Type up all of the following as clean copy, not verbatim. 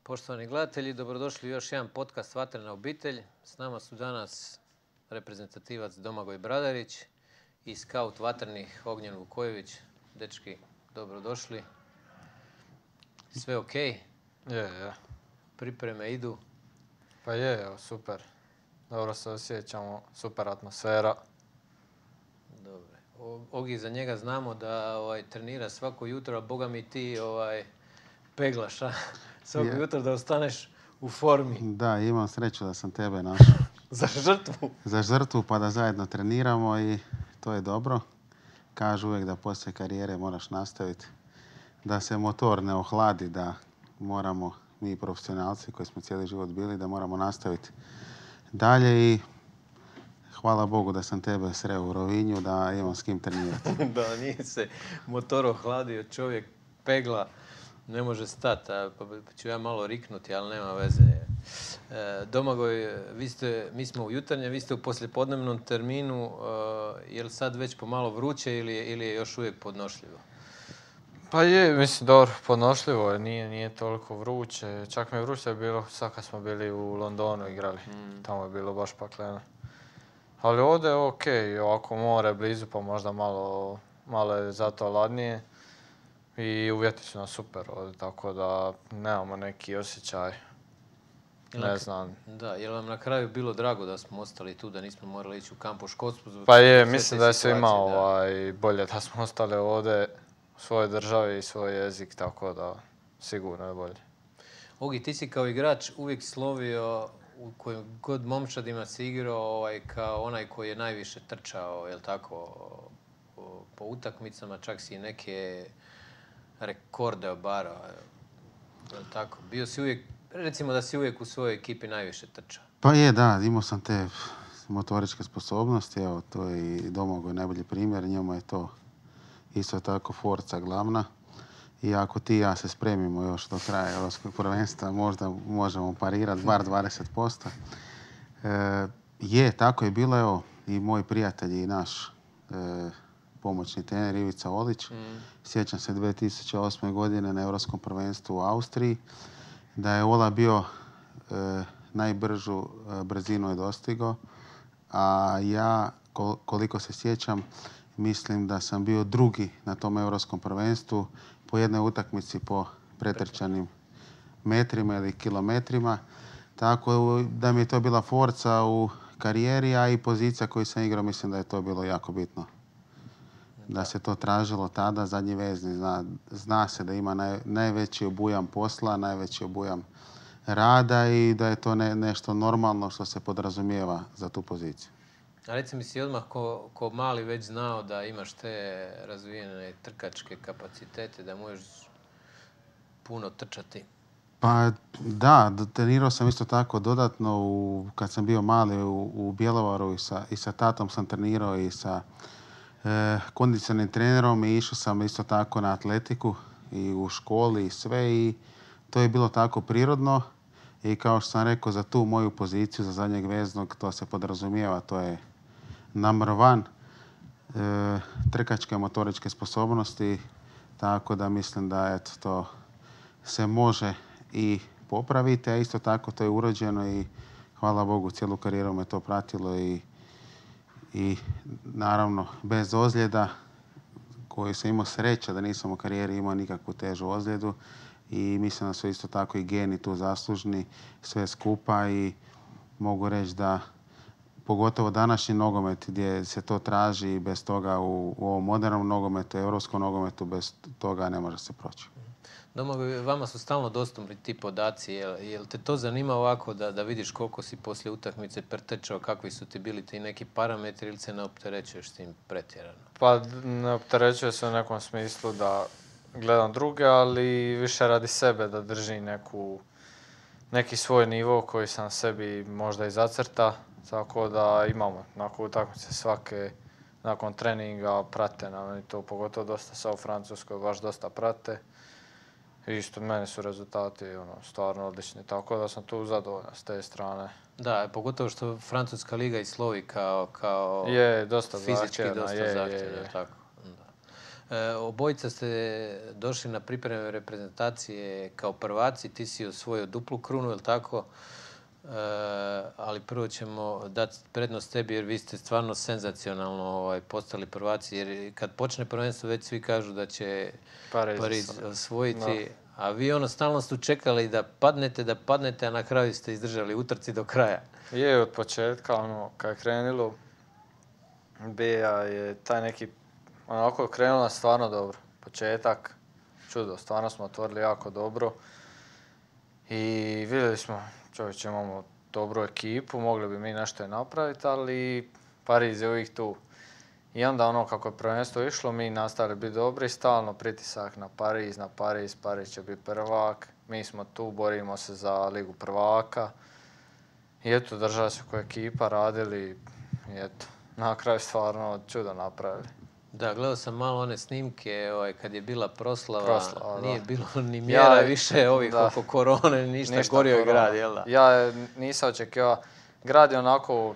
Poštovani gledatelji, dobrodošli u još jedan podcast Vatrena obitelj. S nama su danas reprezentativac Domagoj Bradarić i skaut vatrenih Ognjen Vukojević. Dečki, dobrodošli. Sve ok? Je. Pripreme idu? Pa je, super. Dobro se osjećamo, super atmosfera. Dobro. Ogi, za njega znamo da trenira svako jutro, a boga mi ti peglaš, a? Svako jutro da ostaneš u formi. Da, imam sreću da sam tebe našao. Za žrtvu? Za žrtvu, pa da zajedno treniramo i to je dobro. Kažu uvijek da poslije karijere moraš nastaviti. Da se motor ne ohladi, da moramo, mi profesionalci koji smo cijeli život bili, da moramo nastaviti dalje i hvala Bogu da sam tebe sreo u Rovinju, da imam s kim trenirati. Da, nije se motor ohladio, čovjek pegla, ne može stati, pa ću ja malo riknuti, ali nema veze. Domagoj, mi smo u jutarnjem, vi ste u poslijepodnevnom terminu, je li sad već pomalo vruće ili je još uvijek podnošljivo? Pa je, mislim, dobro, podnošljivo je, nije toliko vruće. Čak mi je vruće bilo sad kad smo bili u Londonu igrali. Tamo je bilo baš pakleno. Ali ovdje je okej, ovako more blizu pa možda malo je zato ladnije. I uvjeti su nam super ovdje, tako da nemamo neki osjećaj. Ne znam. Da, je li vam na kraju bilo drago da smo ostali tu, da nismo morali ići u kamp u Škotsku? Pa je, mislim da je svima bolje da smo ostali ovdje u svojoj državi i svoj jezik, tako da sigurno je bolje. Ogi, ti si kao igrač uvijek slovio u kojim god momčadima si igrao kao onaj koji je najviše trčao, jel tako, po utakmicama, čak si i neke rekorde obarao, jel tako? Bio si uvijek, recimo da si uvijek u svojoj ekipi najviše trčao. Pa je, da, imao sam te motoričke sposobnosti, evo, to je i Domagoj najbolji primjer, njemu je to isto tako forca glavna. I ako ti i ja se spremimo još do kraja Europskog prvenstva, možda možemo parirati bar 20%. Je, tako je bilo, evo, i moj prijatelj i naš pomoćni trener Ivica Olić. Sjećam se 2008. godine na Europskom prvenstvu u Austriji, da je Ola bio najbržu brzinu je dostigao, a ja, koliko se sjećam, mislim da sam bio drugi na tom Europskom prvenstvu po jednoj utakmici po pretrčanim metrima ili kilometrima. Tako da mi je to bila forca u karijeri, a i pozicija koju sam igrao, mislim da je to bilo jako bitno. Da se to tražilo tada, zadnji vezni. Zna se da ima najveći obujam posla, najveći obujam rada i da je to nešto normalno što se podrazumijeva za tu poziciju. A reci mi, si odmah ko mali već znao da imaš te razvijene trkačke kapacitete, da možeš puno trčati? Pa da, trenirao sam isto tako dodatno kad sam bio mali u Bjelovaru i sa tatom sam trenirao i sa kondicionalnim trenerom i išao sam isto tako na atletiku i u školi i sve i to je bilo tako prirodno i kao što sam rekao za tu moju poziciju, za zadnjeg veznog, to se podrazumijeva, to je number one, trkačke motoričke sposobnosti, tako da mislim da to se može i popraviti, a isto tako to je urođeno i hvala Bogu cijelu karijeru me to pratilo i naravno bez ozljeda koju sam imao sreća da nisam u karijeri imao nikakvu težu ozljedu i mislim da su isto tako i geni tu zaslužni sve skupa i mogu reći da pogotovo današnji nogomet gdje se to traži i bez toga u ovom modernom nogometu, europskom nogometu, bez toga ne može se proći. Domagoj, vama su stalno dostupni ti podaci. Jel te to zanima ovako da vidiš koliko si poslije utakmice pretrčao, kakvi su ti bili ti neki parametri ili se ne opterećuješ s tim pretjerano? Pa ne opterećuje se u nekom smislu da gledam druge, ali više radi sebe da drži neki svoj nivo koji sam sebi možda i zacrta. Tako da imamo nakon utakmice svake, nakon treninga prate nam i to pogotovo dosta sa u Francuskoj, baš dosta prate. Isto meni su rezultati stvarno odlični, tako da sam tu zadovoljan s te strane. Da, pogotovo što Francuska liga i slovi kao je, dosta fizički zahtjevna, dosta zahtjevna. Tako. Obojica ste došli na pripreme reprezentacije kao prvaci, ti si osvojio duplu krunu, je li tako? Ali prvo ćemo dati prednost tebi jer vi ste stvarno senzacionalno postali prvaci. Jer kad počne prvenstvo već svi kažu da će Pariz osvojiti. A vi stalno ste čekali da padnete, a na kraju ste izdržali utrci do kraja. Je, od početka, kad je krenilo, Beja je taj neki, onako je krenula stvarno dobro. Početak, čudo, stvarno smo otvorili jako dobro. I vidjeli smo, čovječe, imamo dobru ekipu, mogli bi mi nešto i napraviti, ali Pariz je uvijek tu. I onda kako je prvenstvo išlo, mi nastavili biti dobri, stalno pritisak na Pariz, Pariz će biti prvak, mi smo tu, borimo se za ligu prvaka. I eto, držali se kao ekipa, radili i eto, na kraju stvarno čudo napravili. Da, gledao sam malo one snimke, kad je bila proslava nije bilo ni mjera više oko korone, ništa gorio je grad, jel da? Ja nisam očekivao, grad je onako,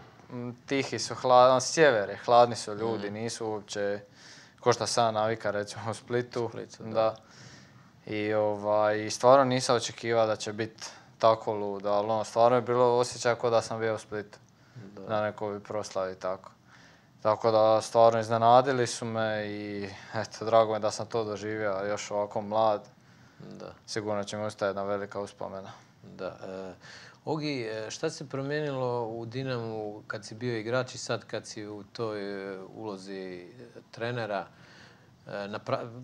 tihi su, sjever je, hladni su ljudi, nisu uopće, ko što sam navika recimo u Splitu. Da. I stvarno nisam očekivao da će biti tako ludo, ali stvarno je bilo osjećaj kao da sam bio u Splitu, na nekoj proslavi tako. Tako da stvarno iznenadili su me i eto, drago mi je da sam to doživio, još ovako mlad. Da. Sigurno će mi ostati jedna velika uspomena. Da. Ogi, šta se promijenilo u Dinamu kad si bio igrač i sad kad si u toj ulozi trenera?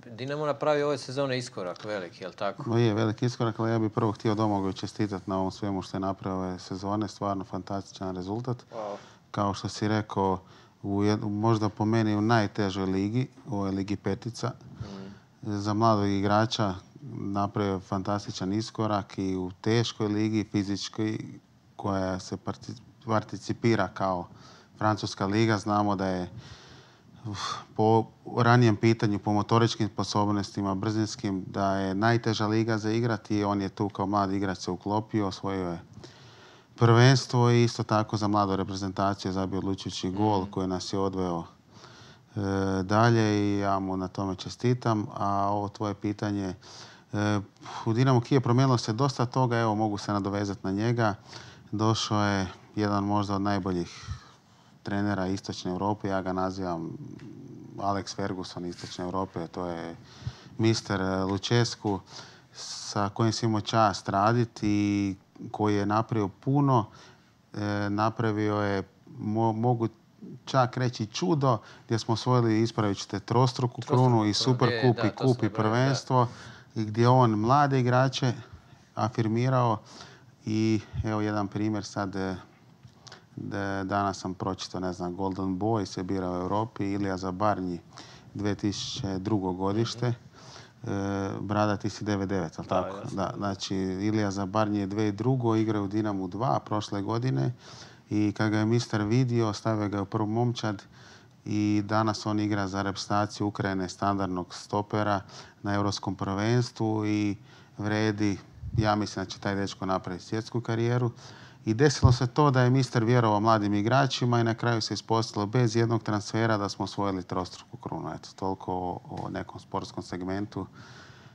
Dinamo napravi ove sezone iskorak veliki, je li tako? Je veliki iskorak, ali ja bih prvo htio Domagoju čestitati na ovom svemu što je napravio ove sezone. Stvarno fantastičan rezultat. Wow. Kao što si rekao, možda po meni u najtežoj ligi, u ovoj ligi petica. Za mladog igrača napravio fantastičan iskorak i u teškoj ligi, fizičkoj, koja se participira kao Francuska liga. Znamo da je po ranijem pitanju, po motoričkim sposobnostima, brzinskim, da je najteža liga za igrati i on je tu kao mlad igrač se uklopio, osvojio je prvenstvo i isto tako za mladu reprezentaciju zabio odlučujući gol koji nas je odveo dalje i ja mu na tome čestitam. A ovo tvoje pitanje, u Dinamo Kijev promijenilo se dosta toga, evo mogu se nadovezati na njega. Došao je jedan možda od najboljih trenera Istočne Europe, ja ga nazivam Alex Ferguson Istočne Europe, to je mister Lucescu sa kojim si imao čast raditi i koji je napravio puno. Napravio je, mogu čak reći, čudo gdje smo osvojili, ispravit ćete, trostruku krunu i Superkup i kup i prvenstvo i gdje on mlade igrače afirmirao. I evo jedan primjer sad, danas sam pročitao, ne znam, Golden Boy se bira u Europi, Ilija Zabarnji 2002. godište. Brada, ti si 99, ali tako? Da, znači, Ilija Zabarnji je 2002. igrao u Dinamu 2 prošle godine i kad ga je mister vidio, stavio ga u prvu momčad i danas on igra za reprezentaciju Ukrajine standardnog stopera na Europskom prvenstvu i vredi, ja mislim da će taj dečko napraviti svjetsku karijeru. I desilo se to da je mister vjerovao mladim igračima i na kraju se ispostavilo bez jednog transfera da smo osvojili trostruku krunu. Eto, toliko o nekom sportskom segmentu.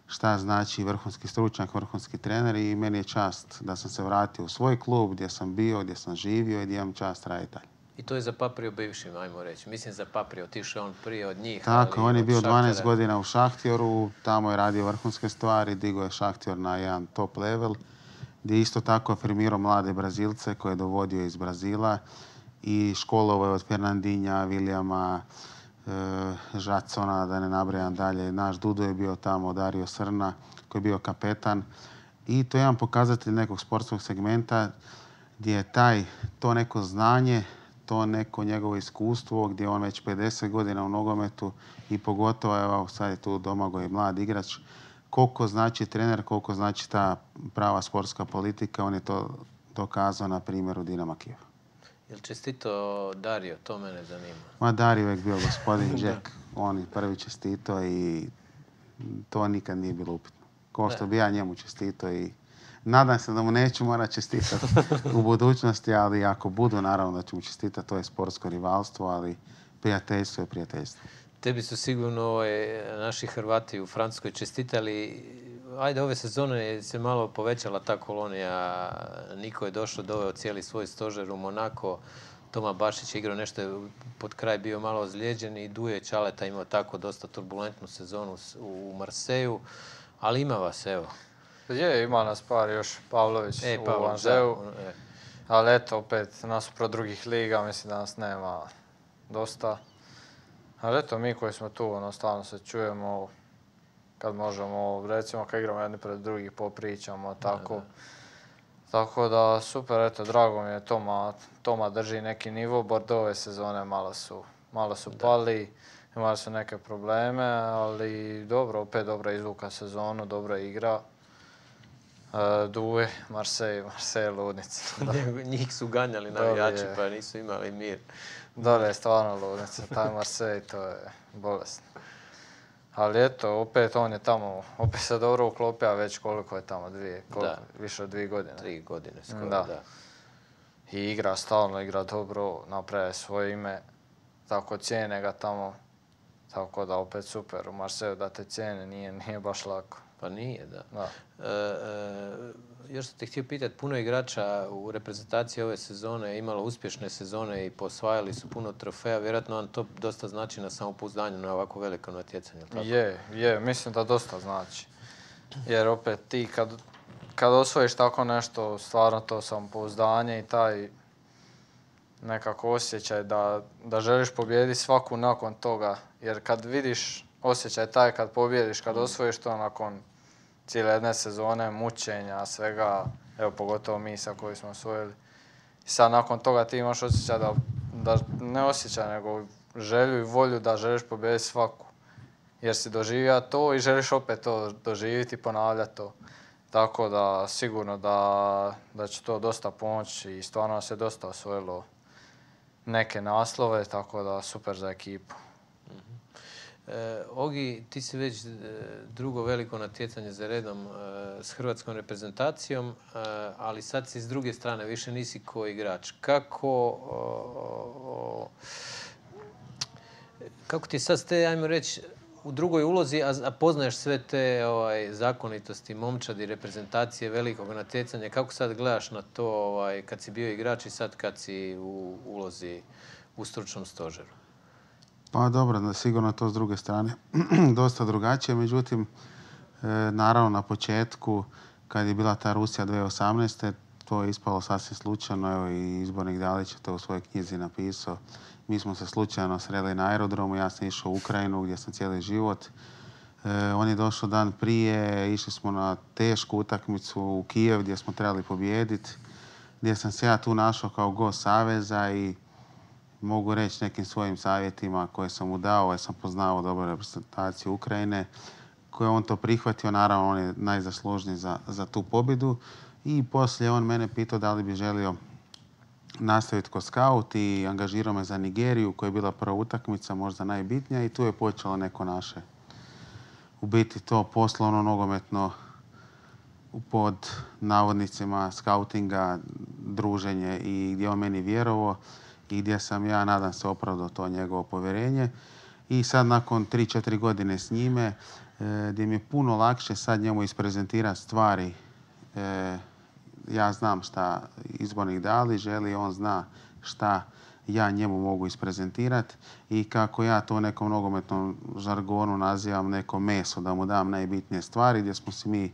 Šta znači vrhunski stručnjak, vrhunski trener i meni je čast da sam se vratio u svoj klub gdje sam bio, gdje sam živio i gdje imam čast raditi dalje. I to je zapaprio bivšim, ajmo reći. Mislim zapaprio, otišao on prije od njih. Tako, on je bio 12 godina u Šahtjoru, tamo je radio vrhunske stvari, digao je Šahtjor na jedan top level, gdje isto tako afirmirao mlade Brazilce koje je dovodio iz Brazila i školovao je od Fernandinha, Williama, Žacona, da ne nabrajam dalje. Naš Dudo je bio tamo, Dario Srna, koji je bio kapetan. I to je jedan pokazatelj nekog sportskog segmenta gdje je to neko znanje, to neko njegovo iskustvo, gdje je on već 50 godina u nogometu i pogotovo, evo sad je tu Domagoj mlad igrač, koliko znači trener, koliko znači ta prava sportska politika, on je to dokazao na primjeru Dinama Kijev. Jel čestito Dario? To mene zanima. Ma Dario je uvijek bio gospodin Jack. On je prvi čestito i to nikad nije bilo upitno. Kao što bi ja njemu čestito i nadam se da mu neću morati čestitati u budućnosti, ali ako budu, naravno da ću mu čestitati. To je sportsko rivalstvo, ali prijateljstvo je prijateljstvo. Tebi su sigurno naši Hrvati u Francuskoj čestitali. Ajde, ove sezone se malo povećala ta kolonija. Niko je došao, doveo cijeli svoj stožer u Monako. Toma Bašić je igrao nešto, pod kraj bio malo ozlijeđen i Duje Čaleta imao tako dosta turbulentnu sezonu u Marseju. Ali ima vas, evo. Ima nas par još, Pavlović u Anžeu. Ali eto, opet, nasuprot drugih liga, mislim da nas nema dosta. Ali eto, mi koji smo tu, stvarno se čujemo kad možemo, recimo kad igramo jedni pred drugih, popričamo, tako. Tako da, super, eto, drago mi je, Toma drži neki nivo, Bordeaux ove sezone malo su pali, imali su neke probleme, ali dobro, opet dobra izvuka sezonu, dobra igra. Duje, Marseille ludnica. Njih su ganjali navijači pa nisu imali mir. Dole je stvarno ludnica, taj Marseille, to je bolesno. Ali eto, opet on je tamo, opet se dobro uklopio, a već koliko je tamo, više od 2 godine. 3 godine skoro, da. I igra stalno, igra dobro, napravi svoje ime, tako cijene ga tamo. Tako da opet super, u Marseju da te cijene nije baš lako. Pa nije, da. Još sam te htio pitati, puno igrača u reprezentaciji ove sezone je imalo uspješne sezone i posvajali su puno trofeja. Vjerojatno vam to dosta znači na samopouzdanju na ovako veliko natjecanje, tako? Je, mislim da dosta znači. Jer opet ti kad osvojiš tako nešto, stvarno to samopouzdanje i taj nekako osjećaj da želiš pobijediti svaku nakon toga. Jer kad vidiš osjećaj taj kad pobjediš, kad osvojiš to nakon cijele jedne sezone, mučenja, svega, evo pogotovo mi sa koji smo osvojili. I sad nakon toga ti imaš osjećaj da ne osjećaj, nego želju i volju da želiš pobijediti svaku. Jer si doživio to i želiš opet to doživjeti i ponavljati to. Tako da sigurno da će to dosta pomoći i stvarno se dosta osvojilo neke naslove, tako da super za ekipu. Ogi, ti si već drugo veliko natjecanje za redom s hrvatskom reprezentacijom, ali sad si s druge strane, više nisi ko igrač. Kako ti sad ste, ajmo reći, u drugoj ulozi, a poznaješ sve te zakonitosti momčadi, reprezentacije, velikog natjecanja, kako sad gledaš na to kad si bio igrač i sad kad si u ulozi u stručnom stožeru? Pa dobro, sigurno to s druge strane dosta drugačije, međutim, naravno na početku, kad je bila ta Rusija 2018. to je ispalo sasvim slučajno, evo i izbornik Dalić je to u svojoj knjizi napisao. Mi smo se slučajno sreli na aerodromu, ja sam išao u Ukrajinu gdje sam cijeli život. On je došao dan prije, išli smo na tešku utakmicu u Kijev gdje smo trebali pobijediti, gdje sam se ja tu našao kao gost Saveza i mogu reći nekim svojim savjetima koje sam mu dao, jer sam poznao dobro reprezentaciju Ukrajine, koje on to prihvatio, naravno on je najzaslužniji za tu pobjedu. I poslije on mene pitao da li bi želio nastaviti kao scout i angažirao me za Nigeriju, koja je bila prva utakmica, možda najbitnija, i tu je počelo neko naše, u biti to poslovno nogometno pod navodnicima skautinga, druženje i gdje on meni vjerovao i gdje sam ja, nadam se, opravdao to njegovo povjerenje. I sad nakon 3-4 godine s njime, gdje mi je puno lakše sad njemu isprezentirati stvari. Ja znam šta izbornik Dalić želi, on zna šta ja njemu mogu isprezentirati i kako ja to u nekom nogometnom žargonu nazivam neko meso, da mu dam najbitnije stvari, gdje smo se mi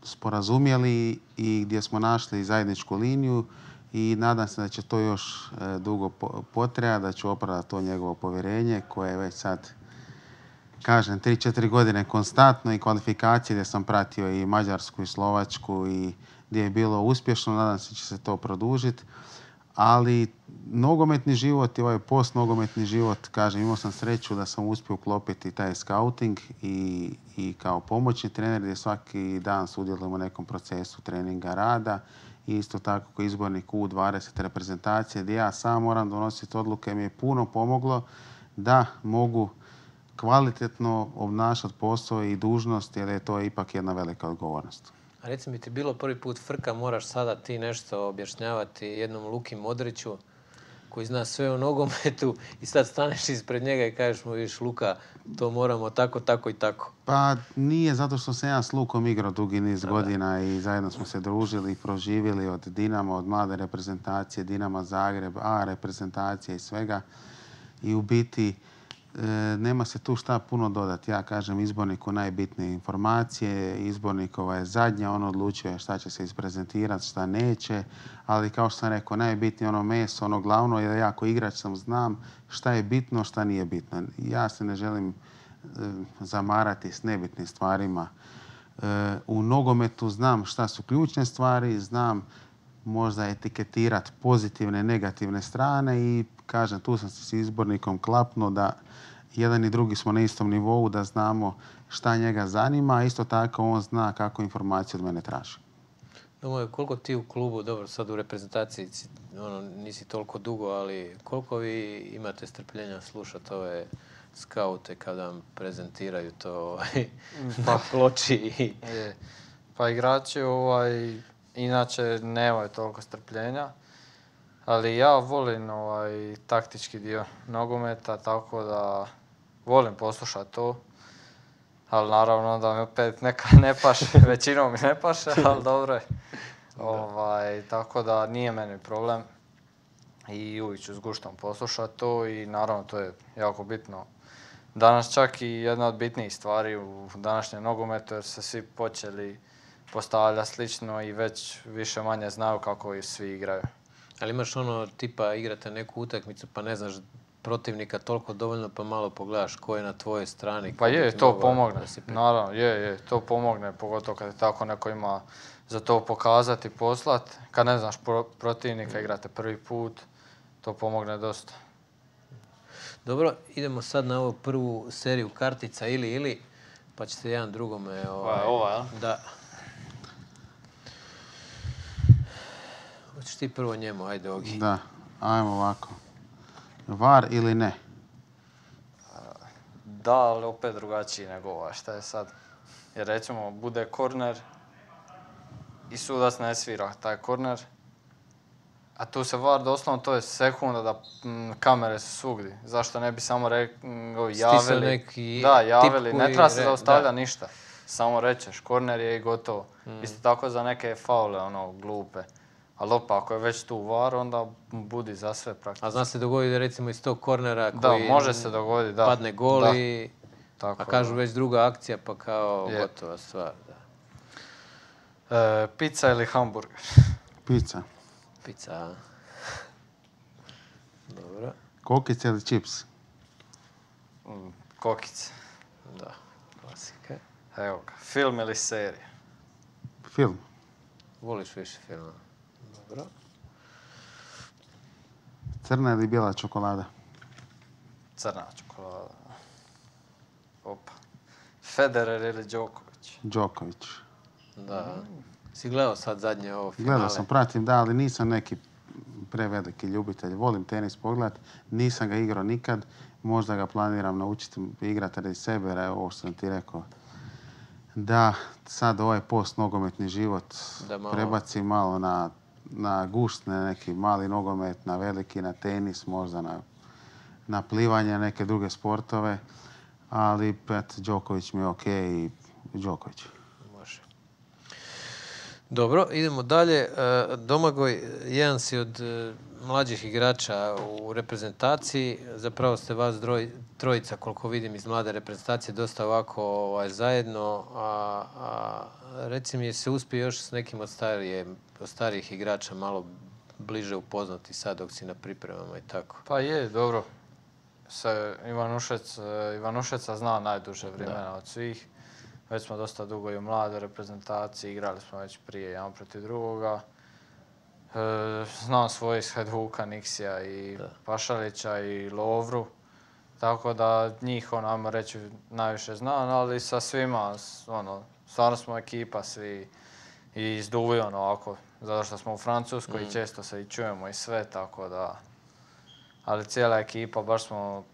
sporazumjeli i gdje smo našli zajedničku liniju i nadam se da će to još dugo potrajati, da ću opravdati to njegovo povjerenje koje je već sad, kažem, 3-4 godine konstantno i kvalifikacije gdje sam pratio i Mađarsku i Slovačku i gdje je bilo uspješno, nadam se da će se to produžiti. Ali nogometni život i ovaj post-nogometni život, kažem, imao sam sreću da sam uspio uklopiti taj scouting i kao pomoćni trener gdje svaki dan sudjelujemo u nekom procesu treninga, rada i isto tako kao izbornik U20 reprezentacije gdje ja sam moram donositi odluke, mi je puno pomoglo da mogu kvalitetno obnašati posao i dužnost, jer je to ipak jedna velika odgovornost. A reci mi, ti bilo prvi put frka, moraš sada ti nešto objašnjavati jednom Luki Modriću koji zna sve o nogometu i sad staneš ispred njega i kažeš mu, viš Luka, to moramo tako, tako i tako. Pa nije zato što sam ja s Lukom igrao dugi niz godina i zajedno smo se družili i proživjeli od Dinama, od mlade reprezentacije, Dinama Zagreb, A reprezentacije i svega. I u biti nema se tu šta puno dodati. Ja kažem izborniku najbitnije informacije, izbornikova je zadnja, on odlučuje šta će se isprezentirati, šta neće, ali kao što sam rekao, najbitnije ono meso, ono glavno je da ja ako igrač sam znam šta je bitno, šta nije bitno. Ja se ne želim zamarati s nebitnim stvarima. U nogometu znam šta su ključne stvari, znam možda etiketirati pozitivne, negativne strane i kažem, tu sam se s izbornikom klapnuo da jedan i drugi smo na istom nivou, da znamo šta njega zanima, a isto tako on zna kako informaciju od mene traži. Domagoj, koliko ti u klubu, dobro, sad u reprezentaciji nisi toliko dugo, ali koliko vi imate strpljenja slušati ove skaute kada vam prezentiraju to na ploči? Pa igrači inače nemaju toliko strpljenja, ali ja volim taktički dio nogometa, tako da volim poslušati to. Ali naravno da mi opet neka ne paše, većinom mi ne paše, ali dobro je. Tako da nije meni problem i uvijek ću s guštom poslušati to i naravno to je jako bitno. Danas čak i jedna od bitnijih stvari u današnjem nogometu jer se svi počeli postavljati slično i već više manje znaju kako i svi igraju. Ali imaš tipa igrate neku utakmicu pa ne znaš protivnika toliko dovoljno pa malo pogledaš ko je na tvojoj strani. Pa to pomogne. Naravno, to pomogne, pogotovo kad je tako neko ima za to pokazati, poslati. Kad ne znaš protivnika, igrate prvi put, to pomogne dosta. Dobro, idemo sad na ovu prvu seriju kartica ili, pa ćete jedan drugome... Ova, jel? Da. Hoćeš ti prvo njemu, ajde Ogi. Da, ajmo ovako. VAR ili ne? Da, ali opet drugačiji nego ova. Šta je sad? Jer recimo, bude korner i sudac ne svira taj korner. A tu se VAR doslovno, to je sekunda da kamere su svugdje. Zašto ne bi samo javili? Neki javili. Ne treba se zaustavljati ništa. Samo rečeš, korner je i gotovo. Isto tako za neke faule, glupe. Ali ako je već tu VAR, onda budi za sve praktično. A zna se dogoditi recimo iz tog kornera koji može se dogoditi, padne gol i a kažu već druga akcija pa kao gotova stvar. Da. Pizza ili hamburger? Pizza. Pizza. Dobro. Kokice ili čips? Kokice. Da, klasika. Evo ga, film ili serija? Film. Voliš više filma? Dobro. Crna ili bijela čokolada? Crna čokolada. Opa. Federer ili Đoković? Đoković. Da. Si gledao sad zadnje ovo finale? Gledao sam, pratim, da, ali nisam neki preveliki ljubitelj. Volim tenis pogledat, nisam ga igrao nikad. Možda ga planiram naučiti igrati radi sebe, jer ovo što sam ti rekao. Da, sad ovaj post-nogometni život prebaci malo na gušt, na neki mali nogomet, na veliki, na tenis, možda na plivanje, neke druge sportove. Ali, Đoković mi je okej i Đoković. Može. Dobro, idemo dalje. Domagoj, jedan si od mlađih igrača u reprezentaciji. Zapravo ste vas trojica, koliko vidim iz mlade reprezentacije, dosta ovako zajedno. Reci mi, je se uspio još s nekim od starijih igrača malo bliže upoznati sad dok si na pripremama i tako? Pa je, dobro. Ivanušeca zna najduže vremena od svih. Već smo dosta dugo i u mladoj reprezentaciji, igrali smo već prije jedan protiv drugoga. Znam svoje iz Hajduka, Niksija i Pašalića i Lovru. Tako da njih, ajmo reći, najviše znam, ali sa svima, stvarno smo ekipa svi i izduvi ovako, zato što smo u Francuskoj i često se i čujemo i sve, tako da... Ali cijela ekipa, baš smo,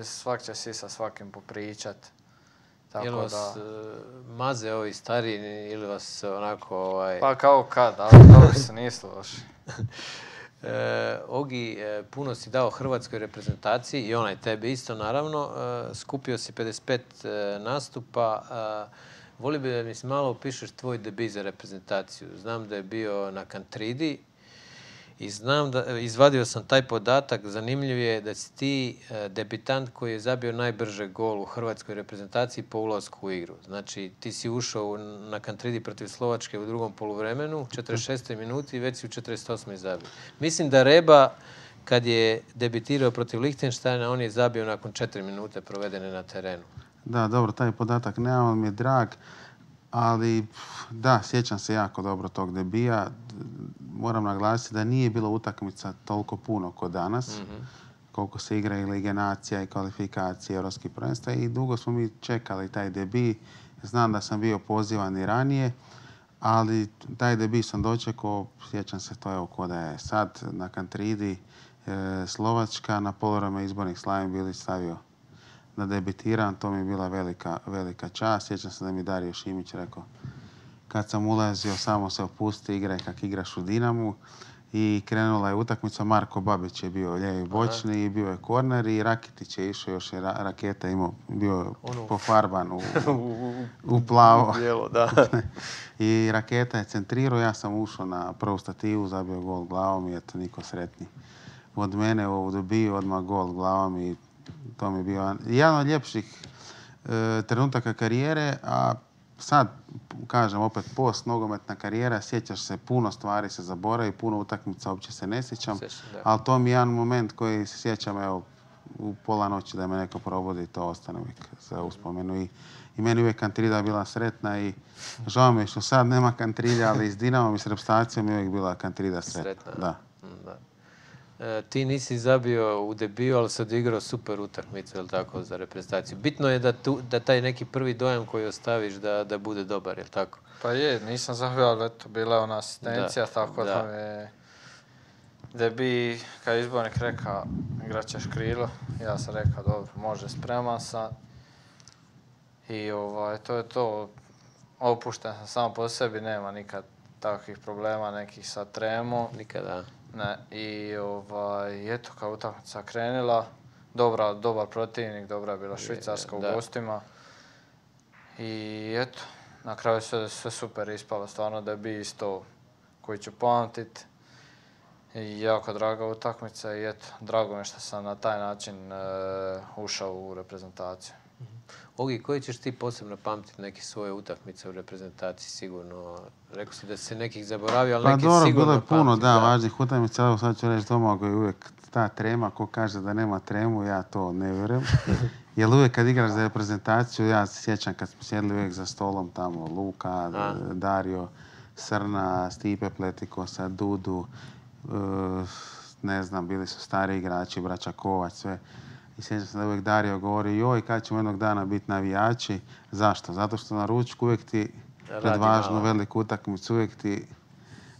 svak će si sa svakim popričat. Jel vas maze ovi stariji ili vas onako... Pa kao kad, ali dobro se nisu loši. Ogi, puno si dao hrvatskoj reprezentaciji i onaj tebi isto naravno. Skupio si 55 nastupa. Volio bi da mi se malo opišeš tvoj debut za reprezentaciju. Znam da je bio na Kantridi i znam da, izvadio sam taj podatak, zanimljiv je da si ti debitant koji je zabio najbrže gol u hrvatskoj reprezentaciji po ulasku u igru. Znači, ti si ušao na Kantridi protiv Slovačke u drugom poluvremenu, u 46. minuti i već si u 48. zabio. Mislim da Reba, kad je debitirao protiv Lichtensteina, on je zabio nakon 4 minute provedene na terenu. Da, dobro, taj podatak nemam, on mi je drag, ali da, sjećam se jako dobro tog debija. Moram naglasiti da nije bilo utakmica toliko puno kod danas, koliko se igra i Lige nacija i kvalifikacije Europskih prvenstva i dugo smo mi čekali taj debi. Znam da sam bio pozivan i ranije, ali taj debi sam dočekao, sjećam se to evo ko da je sad na Kantridi Slovačka, na poluvreme izbornih Slaven Bilić stavio da debitiram, to mi je bila velika čast. Sjećam se da mi Dario Šimić rekao kad sam ulazio, samo se opusti, igraj kak igraš u Dinamu. I krenula je utakmica, Marko Babić je bio lijevi bočni i bio je korner i Rakitić je išao, još je Raketa imao, bio pofarban u plavo. Bijelo, da. I Raketa je centrirao, ja sam ušao na prvu stativu, zabio gol glavom i eto, niko sretni od mene u ovu dobiju, odmah gol glavom i to mi je bio jedan od ljepših trenutaka karijere, a sad, kažem opet, post nogometna karijera, sjećaš se, puno stvari se zaboravi, puno utakmica uopće se ne sjećam, ali to mi je jedan moment koji se sjećam, evo, u pola noći da me neko probudi, to ostane uvijek za uspomenu. I meni uvijek Kantrida bila sretna i žao mi je što sad nema Kantrida, ali s Dinamom i s reprezentacijom je uvijek bila Kantrida sretna. Da. Ti nisi zabio u debiju, ali se odigrao super utakmicu, je li tako, za reprezentaciju. Bitno je da taj neki prvi dojam koji ostaviš da bude dobar, je li tako? Pa je, nisam zabio, ali eto, bila je ona asistencija, tako da me debi, kad je izbornik rekao, igrat ćeš krilo, ja sam rekao, dobro, može, spreman sam. I to je to, opušten sam samo po sebi, nema nikad takvih problema, nekih sa tremom. Nikada. Ne, i eto, kao utakmica krenula, dobar protivnik, dobra je bila Švicarska u gostima. I eto, na kraju sve super ispalo, stvarno da je bi isto koji ću pamtit. I jako draga utakmica i eto, drago mi što sam na taj način ušao u reprezentaciju. Ogi, koji ćeš ti posebno pamtiti neke svoje utakmice u reprezentaciji sigurno? Rekao si da si nekih zaboravio, ali neki sigurno pamti. Pa dobro, bilo je puno, da, važnih utakmica. Evo sad ću reći Domagoj je uvijek ta trema, ko kaže da nema tremu, ja to ne vjerujem. Jer uvijek kad igraš za reprezentaciju, ja se sjećam kad smo sjedli uvijek za stolom tamo, Luka, Dario, Srna, Stipe Pletikosa, Dudu, ne znam, bili su stari igrači, braća Kovač, sve. I sjećam se da uvijek Dario govori, joj, kad ćemo jednog dana biti navijači. Zašto? Zato što na ručku uvijek ti pred važnu veliku utakmicu, uvijek ti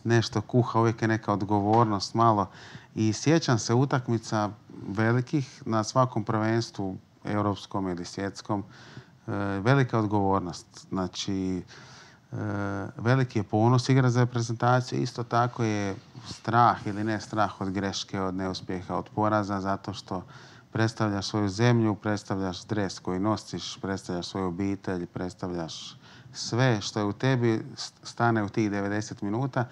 nešto kuha, uvijek je neka odgovornost malo. I sjećam se utakmica velikih na svakom prvenstvu, europskom ili svjetskom, velika odgovornost. Znači, veliki je ponos igra za reprezentaciju, isto tako je strah ili ne strah od greške, od neuspjeha, od poraza, zato što predstavljaš svoju zemlju, predstavljaš dres koji nosiš, predstavljaš svoju obitelj, predstavljaš sve što je u tebi, stane u tih 90 minuta.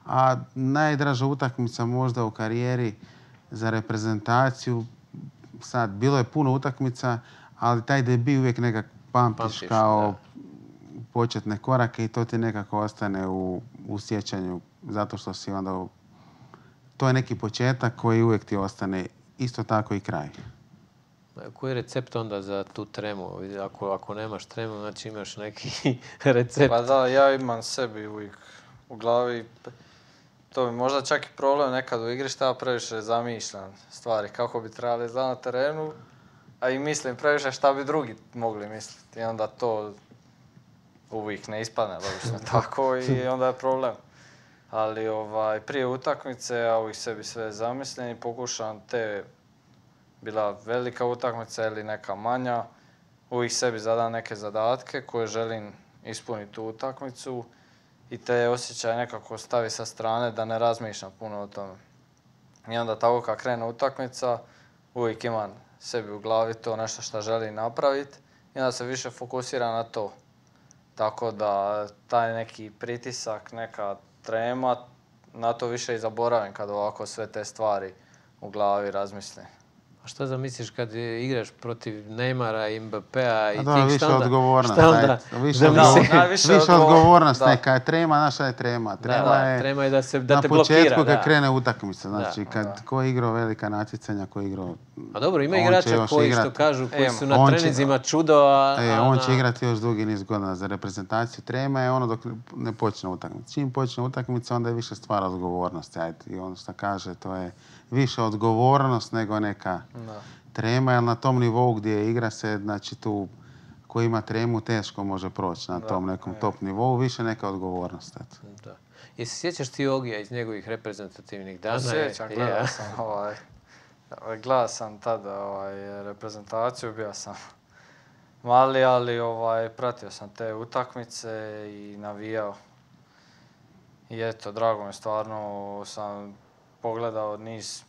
A najdraža utakmica možda u karijeri za reprezentaciju, sad, bilo je puno utakmica, ali taj debi uvijek nekako pamtiš kao početne korake i to ti nekako ostane u sjećanju, zato što si onda... To je neki početak koji uvijek ti ostane, isto tako i kraj. Koji je recept onda za tu tremu? Ako nemaš tremu, znači imaš neki recept. Pa da, ja imam sebi uvijek u glavi. To mi možda čak i problem nekad u igri šta ja previše zamišljam stvari kako bi trebali izgledati na terenu, a i mislim previše šta bi drugi mogli misliti. I onda to uvijek ne ispadne, logično tako, i onda je problem. Ali prije utakmice ja uvijek sebi sve zamislim i pokušam bila velika utakmica ili neka manja, uvijek sebi zadam neke zadatke koje želim ispuniti u utakmicu i te osjećaje nekako stavi sa strane da ne razmišljam puno o tome. I onda tako kad krene utakmica, uvijek imam sebi u glavi to nešto što želim napraviti i onda se više fokusira na to. Tako da taj neki pritisak, neka trema, na to više i zaboravim kad ovako sve te stvari u glavi razmislim. A šta zamisliš kad igraš protiv Neymara i Mbappéa i A da, tih, više šta onda? odgovornost. Šta onda? Više odgovornost, da. neka je trema, naša je trema. Trema je da te na blokira. početku kad Da. krene utakmica, znači Da. kad ko je igrao velika natjecanja, ko je igrao... A dobro, ima on će igrača još koji, igrat. što kažu, koji su na On će- treninzima čudo, a... On će igrati još dugi niz godina za reprezentaciju. Trema je ono dok ne počne utakmica. Čim počne utakmica, onda je više stvar odgovornosti. Ajde. I ono što kaže, to je više odgovornost nego neka trema, jer na tom nivou gdje igra se, znači tu ko ima tremu teško može proći na tom nekom top nivou, više neka odgovornost. Eto. Da. Jesi sjećaš ti Ogija iz njegovih reprezentativnih dana? Sjećam, gledao sam tada reprezentaciju, bio sam mali, ali pratio sam te utakmice i navijao. I eto, drago mi stvarno sam pogledao niz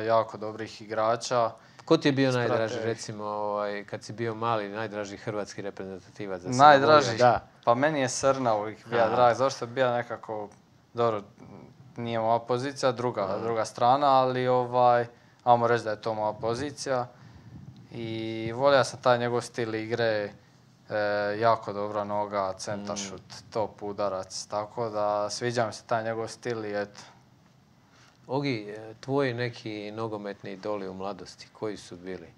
jako dobrih igrača. Ko ti je bio najdraži, recimo, kad si bio mali, najdraži hrvatski reprezentativac? Najdraži? Da. Pa meni je Srna uvijek bio drag, zašto je bio nekako, dobro, nije moja pozicija, druga strana, ali ajmo reći da je to moja pozicija. I volio sam taj njegov stil igre, jako dobra noga, centaršut, top udarac, tako da sviđa mi se taj njegov stil i eto. Ogi, tvoji neki nogometni idoli u mladosti, koji su bili?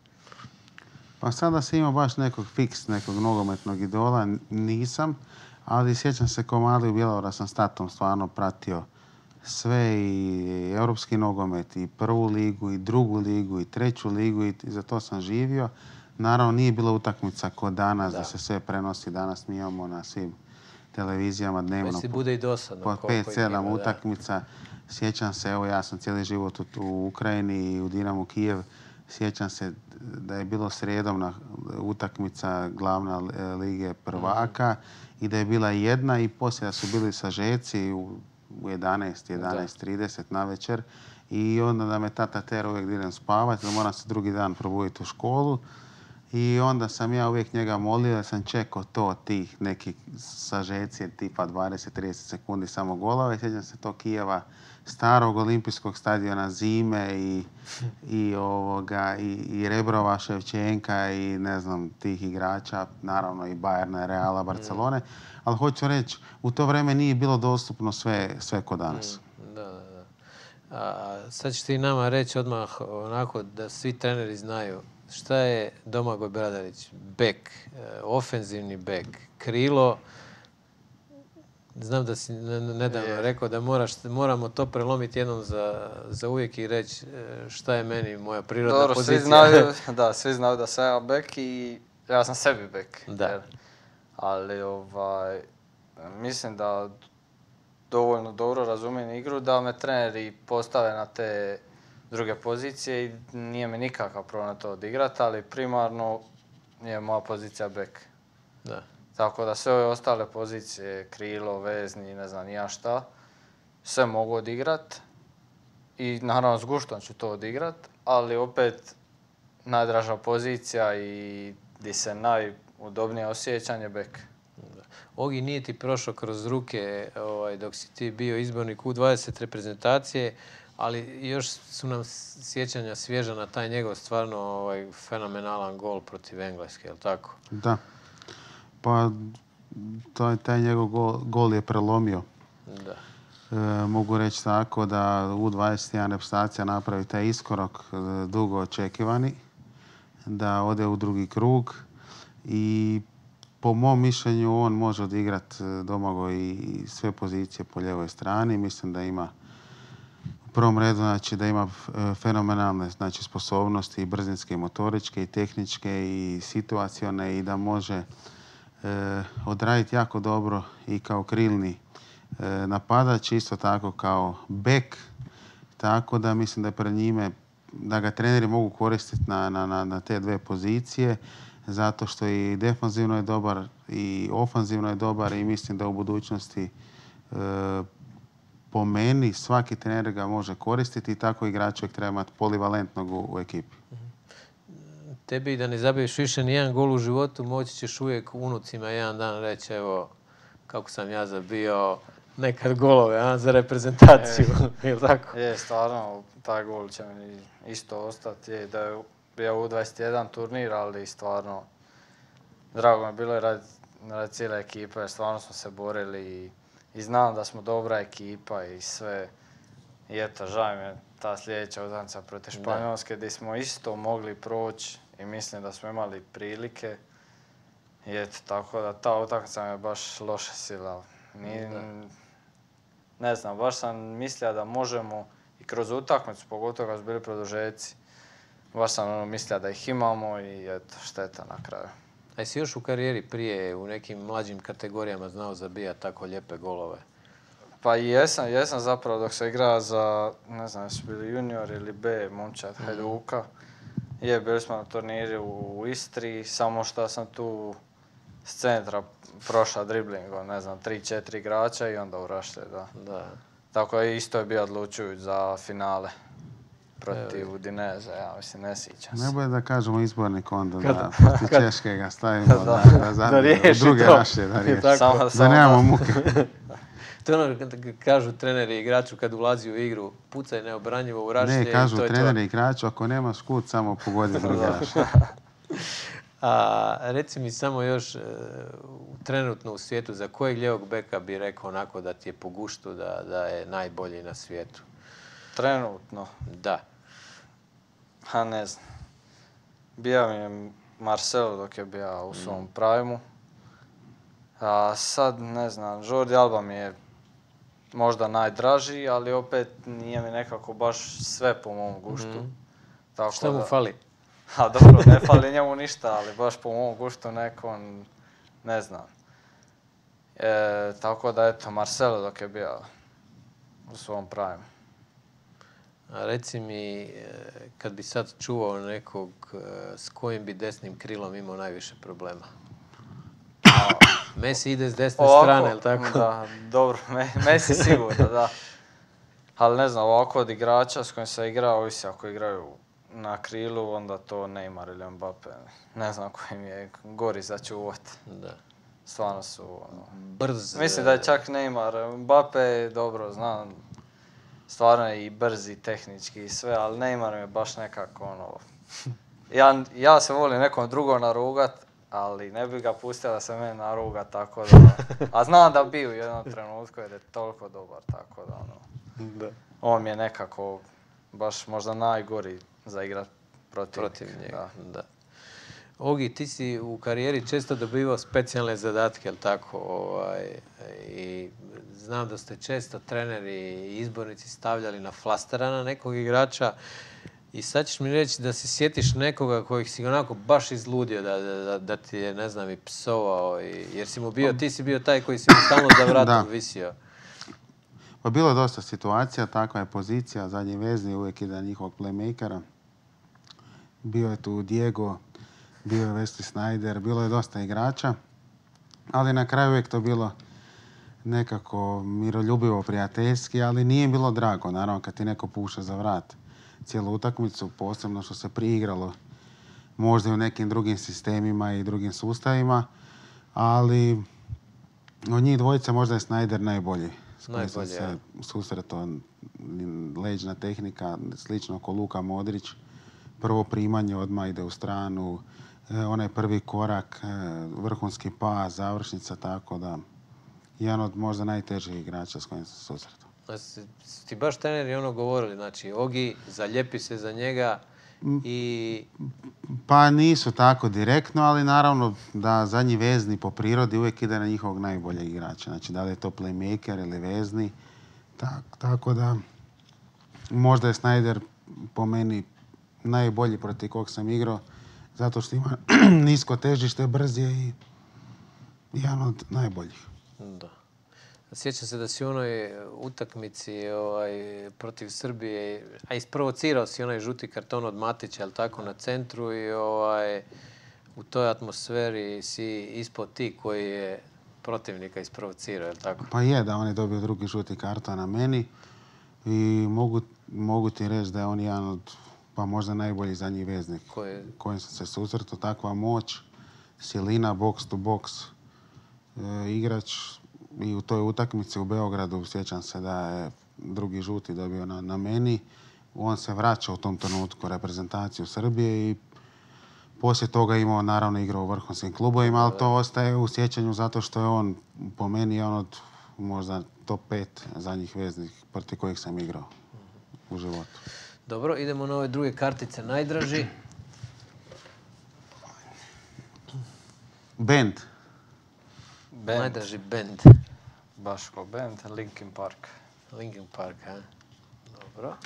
Pa sada se ima baš nekog nogometnog idola, nisam, ali sjećam se ko mali u Bjelovara sam s tatom stvarno pratio sve i europski nogomet, i prvu ligu, i drugu ligu, i treću ligu i za to sam živio. Naravno nije bila utakmica kod danas da se sve prenosi. Danas mi imamo na svim televizijama dnevno Već si bude i dosadno. po 5-7 utakmica. Sjećam se, evo ja sam cijeli život u Ukrajini i u Dinamu Kijev. Sjećam se da je bilo srijedom utakmica glavna lige prvaka i da je bila jedna i poslije da su bili sažeci u 11:30 na večer i onda da me tata tera uvijek da idem spavati, da moram se drugi dan probuditi u školu. I onda sam ja uvijek njega molio da sam čekao to tih nekih sažeci tipa 20-30 sekundi samo golova i sjećam se to Kijeva, starog olimpijskog stadiona zime i Rebrova, Ševčenka i ne znam tih igrača, naravno i Bayerna, Reala, Barcelone. Ali hoću reći, u to vrijeme nije bilo dostupno sve kod danas. Da. A sad ćeš ti nama reći odmah onako da svi treneri znaju šta je Domagoj Bradarić, bek, ofenzivni bek, krilo. Znam da si nedavno rekao da moramo to prelomiti jednom za uvijek i reći šta je meni moja prirodna pozicija. Svi znaju da sam ja bek i ja sam sebi bek. Da. Ali mislim da dovoljno dobro razumijem igru da me treneri postave na te druge pozicije i nije mi nikakav problem to odigrati, ali primarno je moja pozicija bek. Da. Tako da sve ove ostale pozicije, krilo, vezni, ne znam ja šta, sve mogu odigrat i naravno s guštom ću to odigrat, ali opet najdraža pozicija i gdje se najudobnije osjećam je bek. Ogi, nije ti prošao kroz ruke dok si ti bio izbornik U20 reprezentacije, ali još su nam sjećanja svježa na taj njegov stvarno fenomenalan gol protiv Engleske, je li tako? Da. Pa taj njegov gol je prelomio. Da. Mogu reći tako da U21 reprezentacija napravi taj iskorak dugo očekivani, da ode u drugi krug i po mom mišljenju on može odigrati Domagoj i sve pozicije po ljevoj strani. Mislim da ima u prvom redu da ima fenomenalne sposobnosti i brzinske, i motoričke, i tehničke, i situacione i da može odraditi jako dobro i kao krilni napadač, isto tako kao bek. Tako da mislim da je pred njime, da ga treneri mogu koristiti na te dve pozicije, zato što i defanzivno je dobar i ofanzivno je dobar i mislim da u budućnosti po meni svaki trener ga može koristiti i tako igrač uvijek treba imati polivalentnog u ekipi. Tebi da ne zabiješ više ni jedan gol u životu, moći ćeš uvijek unucima jedan dan reći, evo, kako sam ja zabio nekad golove, za reprezentaciju, ili tako? Je, stvarno, taj gol će mi isto ostati. Je da je bio u 21 turnir, ali stvarno drago mi je bilo radi cijele ekipe, jer stvarno smo se borili i znam da smo dobra ekipa i sve. I eto, žao mi je ta sljedeća utakmica protiv Španjolske gdje smo isto mogli proći i mislim da smo imali prilike. I eto, tako da ta utakmica me baš loše sila. Ne znam, baš sam mislio da možemo i kroz utakmicu, pogotovo kad su bili produžeci, baš sam mislio da ih imamo i eto, šteta na kraju. A jesi još u karijeri prije u nekim mlađim kategorijama znao zabijati tako lijepe golove? Pa jesam zapravo dok sam igrao za, ne znam, jesu bili junior ili B, momčad Hajduka. Bili smo na turniri u Istri, samo što sam tu s centra prošao driblingom, ne znam, 3-4 igrača i onda u rašlje, da. Tako isto je bio odlučujuć za finale protiv Udineze, ja mislim, ne sjećam se. Ne bude da kažemo izbornik onda, da protiv Češke ga stavimo da riješi druge to. rašlje, da riješi. Da nemamo muke. To je ono kažu treneri igraču kad ulazi u igru, pucaj neobranjivo u rašlje. Ne, kažu treneri igraču, ako nemaš kut, samo pogodi druge rašlje. A reci mi samo još trenutno u svijetu, za kojeg lijevog beka bi rekao onako da ti je po guštu, da je najbolji na svijetu? Trenutno? Da. Ne znam. Bio mi je Marcelo dok je bio u svom primu. A sad, ne znam, Jordi Alba mi je možda najdraži, ali opet nije mi nekako baš sve po mom guštu. Tako šta mu fali? A dobro, ne fali njemu ništa, ali baš po mom guštu nekom, ne znam. Tako da, eto, Marcelo dok je bio u svom primu. A reci mi, kad bi sad čuvao nekog, s kojim bi desnim krilom imao najviše problema? Messi ide s desne strane, ili tako? Da, dobro, Messi sigurno, da. Ali ne znam, ovako od igrača s kojim sam igrao, ovisi ako igraju na krilu, onda to Neymar ili Mbappe. Ne znam koji mi je gori za čuvat. Da. Stvarno su... Brz. Mislim da je čak Neymar. Mbappe je dobro, znam. Stvarno je i brz i tehnički i sve, ali Neymar mi je baš nekako Ja se volim nekom drugom narugat, ali ne bi ga pustio da se mene naruga, tako da... A znam da bi u jednom trenutku jer je toliko dobar, tako da Da. On mi je nekako baš možda najgori za igrat protiv njega. Da. Ogi, ti si u karijeri često dobivao specijalne zadatke, jel tako? I znam da ste često treneri i izbornici stavljali na flastera na nekog igrača. I sad ćeš mi reći da se sjetiš nekoga kojeg si onako baš izludio, da ti je, ne znam, i psovao, jer si mu bio, ti si bio taj koji si mu stalno za vratom visio. Pa bilo je dosta situacija, takva je pozicija, zadnji vezni uvijek ide njihovog playmakera. Bio je tu Diego, bio je Wesley Sneijder, bilo je dosta igrača, ali na kraju uvijek to bilo nekako miroljubivo, prijateljski, ali nije bilo drago, naravno, kad ti neko puša za vrat cijelu utakmicu, posebno što se priigralo možda i u nekim drugim sistemima i drugim sustavima, ali od njih dvojica možda je Sneijder najbolji. S kojim sam se susretao, leđna tehnika, slično ko Luka Modrić. Prvo primanje odmah ide u stranu, onaj prvi korak, vrhunski pas, završnica, tako da jedan od možda najtežih igrača s kojim sam se susretao. Ti baš treneri govorili, znači Ogi, zaljepi se za njega i... Pa nisu tako direktno, ali naravno da zadnji vezni po prirodi uvijek ide na njihovog najboljeg igrača. Znači da li je to playmaker ili vezni. Tako da možda je Sneijder po meni najbolji protiv kog sam igrao, zato što ima nisko težište, brz je i jedan od najboljih. Da. Sjećam se da si u onoj utakmici protiv Srbije, a isprovocirao si onaj žuti karton od Matića, jel tako, na centru i u toj atmosferi si ispod ti koji je protivnika isprovocirao, je li tako? Pa je da on je dobio drugi žuti karton na meni i mogu ti reći da je on jedan od, pa možda najbolji zadnji veznik kojim sam se susretao. Takva moć, silina, box to box igrač i u toj utakmici u Beogradu sjećam se da je drugi žuti dobio na meni. On se vraća u tom trenutku reprezentaciju Srbije i poslije toga imao naravno igrao u vrhunskim klubovima, ali to ostaje u sjećanju zato što je on po meni jedan od možda top 5 zadnjih veznih protiv kojih sam igrao u životu. Dobro, idemo na ove druge kartice. Najdraži? Band. Najdraži band. Baš ko band, Linkin Park. Linkin Park, a? Dobro.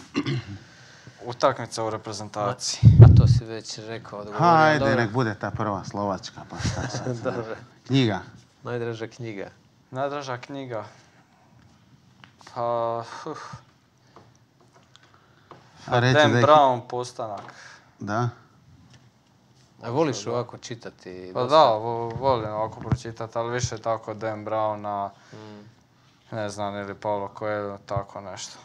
Utakmica u reprezentaciji. A to si već rekao. Hajde, nek bude ta prva Slovačka, pa šta sad. Dobro. Knjiga. Najdraža knjiga. Najdraža knjiga. Pa... Dan Brown, Postanak. Da? A voliš ovako čitati? Pa da, volim ovako pročitati, ali više tako Dan Browna, ne znam, ili Paulo Coelho, tako nešto.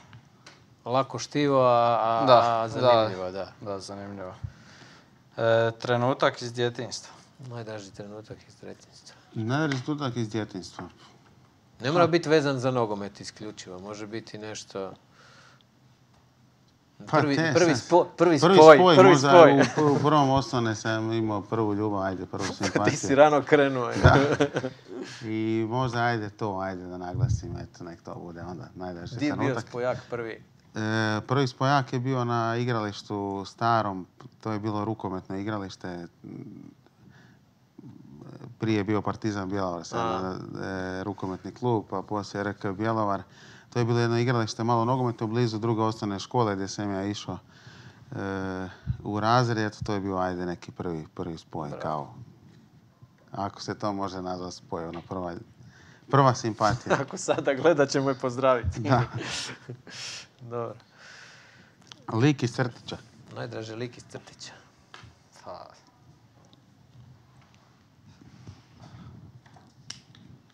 Lako štivo, a zanimljivo, da. Da, zanimljivo. Trenutak iz djetinjstva. Najdraži trenutak iz djetinjstva. Najdraži trenutak iz djetinjstva. Ne mora biti vezan za nogomet isključivo, može biti nešto... Prvi spoj. U prvom osnovne sam imao prvu ljubav, ajde, prvu simpatiju. Ti si rano krenuo. Da. I možda ajde da naglasim, eto, nek to bude onda najdraži trenutak. Gdje je bio spojak prvi? Prvi spojak je bio na igralištu starom, to je bilo rukometno igralište. Prije je bio Partizan Bjelovar, rukometni klub, pa poslije RK Bjelovar. To je bilo jedno igralište malo nogometno blizu druge osnovne škole gdje sam ja išao u razred. To je bio ajde neki prvi spoj. Kao, ako se to može nazvati spoj, ona prva simpatija. Ako sada gleda ćemo je pozdraviti. Da. Dobro. Lik iz crtića. Najdraži lik iz crtića.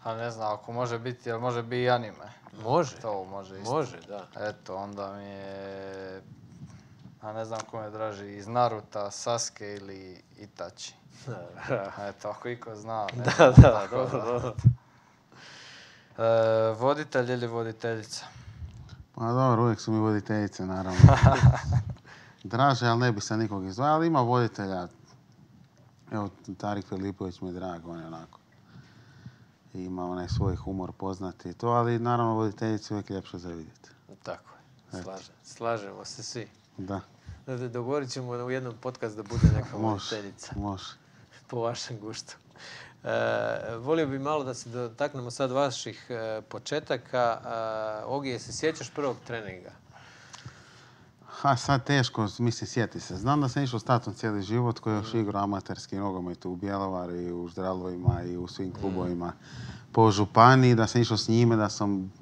A ne znam, ako može biti, ali može biti i anime. Može. To može isto. Može, da. Eto, onda mi je... A ne znam ko me draži, iz Naruta, Sasuke ili Itachi. Eto, ako iko zna. Da, dobro. Voditelj ili voditeljica? Pa dobro, uvijek su mi voditeljice, naravno. Draže, ali ne bi se nikog izdvojao, ali ima voditelja. Evo, Tarik Filipović mi je drag, on je onako. Ima onaj svoj humor poznati i to, ali naravno voditeljice uvijek ljepše za vidjeti. Tako je, slažemo se svi. Da. Dogovorit ćemo u jednom podcastu da bude neka voditeljica. Može. Po vašem guštu. Volio bi malo da se dotaknemo sad vaših početaka. Ogi, se sjećaš prvog treninga? Sad teško, mislim, sjeti se. Znam da sam išao s tatom cijeli život koji je još igrao amaterski nogomet u Bjelovaru i u Ždralovima i u svim klubovima po županiji, da sam išao s njime, da sam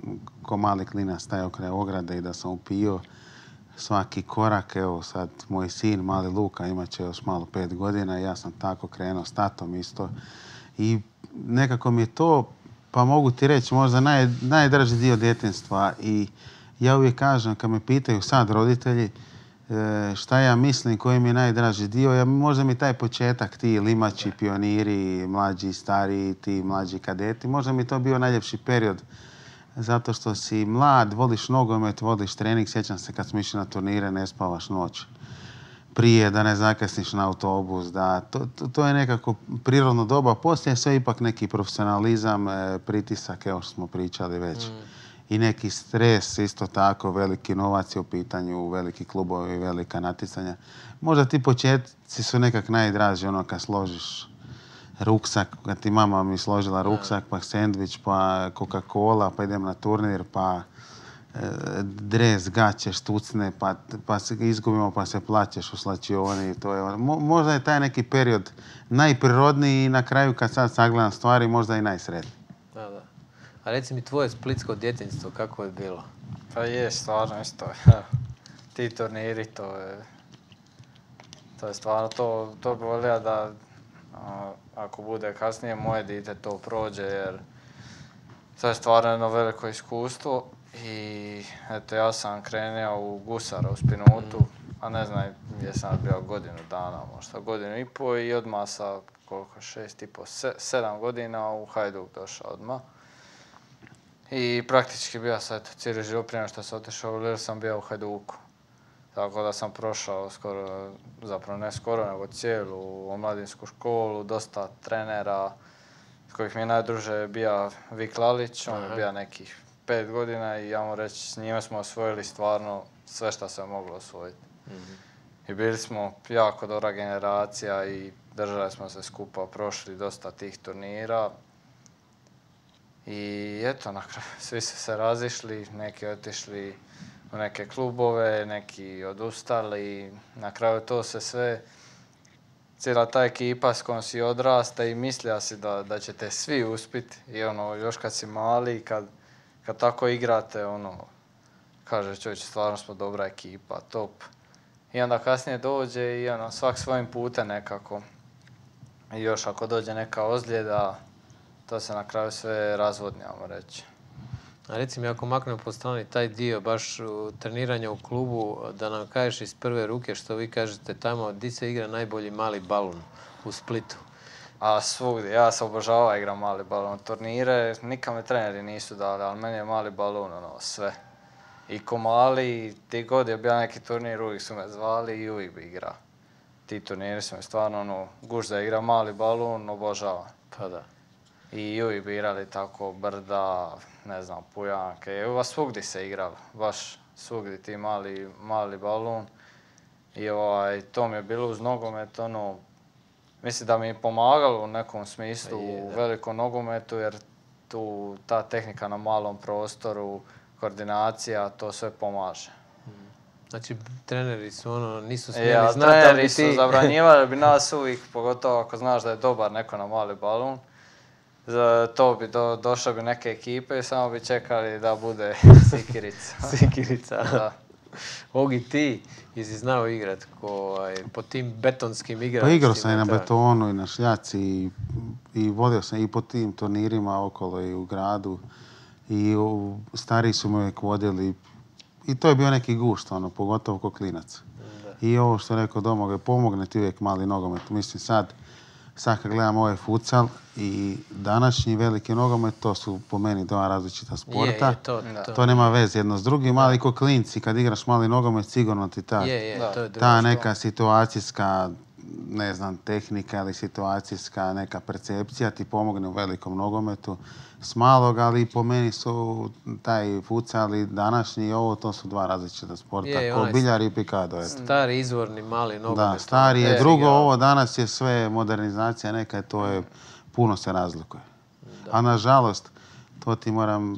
ko mali klinac stajao kraj ograde i da sam upio svaki korak. Evo sad moj sin, mali Luka, imat će još malo 5 godina i ja sam tako krenuo s tatom isto. I nekako mi je to, pa mogu ti reći, možda najdraži dio djetinjstva. I ja uvijek kažem, kad me pitaju sad roditelji šta ja mislim, koji mi je najdraži dio, možda mi taj početak, ti limači, pioniri, mlađi, stariji, ti mlađi kadeti, možda mi je to bio najljepši period. Zato što si mlad, voliš nogomet, voliš trening. Sjećam se kad smo išli na turnire, ne spavaš noć prije, da ne zakasniš na autobus. To je nekako prirodno doba. Poslije sve ipak neki profesionalizam, pritisak, evo što smo pričali već. I neki stres, isto tako, veliki novac je u pitanju, veliki klubovi, velika natjecanja. Možda ti početci su nekak najdraži, ono kad složiš ruksak, kad ti mama mi složila ruksak, pa sendvič, pa Coca-Cola, pa idem na turnir, pa dres, gaće, štucne, pa se izgubimo, pa se plaćeš u slačioni. Možda je taj neki period najprirodniji i na kraju kad sad sagledam stvari, možda i najsretniji. Da. A reci mi tvoje splitsko djetinjstvo, kako je bilo? Pa je, stvarno isto. Ti turniri, to je stvarno, to bi volio da ako bude kasnije moje dite to prođe, jer to je stvarno jedno veliko iskustvo i eto ja sam krenuo u gusara u Spinutu, a ne znam gdje sam bio godinu dana, možda godinu i pol i odmah sa koliko, 7 godina u Hajduk došao odmah. I praktički bio sam cijeli život prije što sam otišao u Lille sam bio u Hajduku. Tako da sam prošao skoro, zapravo ne skoro, nego cijelu omladinsku školu, dosta trenera, s kojih mi je najdruže bio Vik Lalić, on je bio nekih 5 godina i ja mu reći, s njime smo osvojili stvarno sve što se moglo osvojiti. I bili smo jako dobra generacija i držali smo se skupa, prošli dosta tih turnira. I eto, na kraju svi su se razišli, neki otišli u neke klubove, neki odustali. Na kraju to se sve, cijela ta ekipa s kojom si odrasta i mislija si da ćete svi uspjeti. I još kad si mali, kad tako igrate, kaže čovječe, stvarno smo dobra ekipa, top. I onda kasnije dođe i svak svojim putem nekako. I još ako dođe neka ozljeda, to se na kraju sve razvodni, ajmo reći. A reci mi, ako maknemo po strani taj dio baš treniranja u klubu, da nam kažeš iz prve ruke što vi kažete tamo, di se igra najbolji mali balun u Splitu? A svugdje, ja sam obožavao igram mali balun. Turnire, nikad me treneri nisu dali, ali meni je mali balun sve. I ko mali, ti god je bio neki turnir, uvijek su me zvali i uvijek bi igrao. Ti turniri su me stvarno, guš da igra mali balun, obožavam. Pa da. I uvijek bi igrali tako Brda, ne znam, Pujanke, svugdje se igralo, baš svugdje ti mali balun. I to mi je bilo uz nogomet, mislim da mi je pomagalo u nekom smislu u velikom nogometu, jer tu ta tehnika na malom prostoru, koordinacija, to sve pomaže. Znači, treneri su nisu smjeli znati, ali treneri su zabranjivali bi nas uvijek, pogotovo ako znaš da je dobar neko na mali balun. To bi došle bi neke ekipe i samo bi čekali da bude Sikirica. Sikirica. Da. Ogi, ti jesi znao igrat po tim betonskim igralištima? Pa igrao sam i na betonu i na šljaci i vodio sam i po tim turnirima okolo i u gradu. I stariji su me uvijek vodili i to je bio neki gušt, pogotovo ko klinac. Da. I ovo što je rekao Domagoj, pomogne ti uvijek mali nogomet. Mislim sad kad gledam ovaj futsal i današnji veliki nogomet, to su po meni dva različita sporta. To nema veze jedno s drugim, ali ko klinci kad igraš mali nogomet sigurno ti ta neka situacijska, ne znam, tehnika ili situacijska neka percepcija ti pomogne u velikom nogometu s malog, ali po meni su taj futsal i današnji i ovo, to su dva različita sporta, ko biljar i pikado. Stari izvorni mali nogomet. Da, stari je drugo, ovo danas je sve modernizacija neka, to je, puno se razlikuje. Da. A nažalost, to ti moram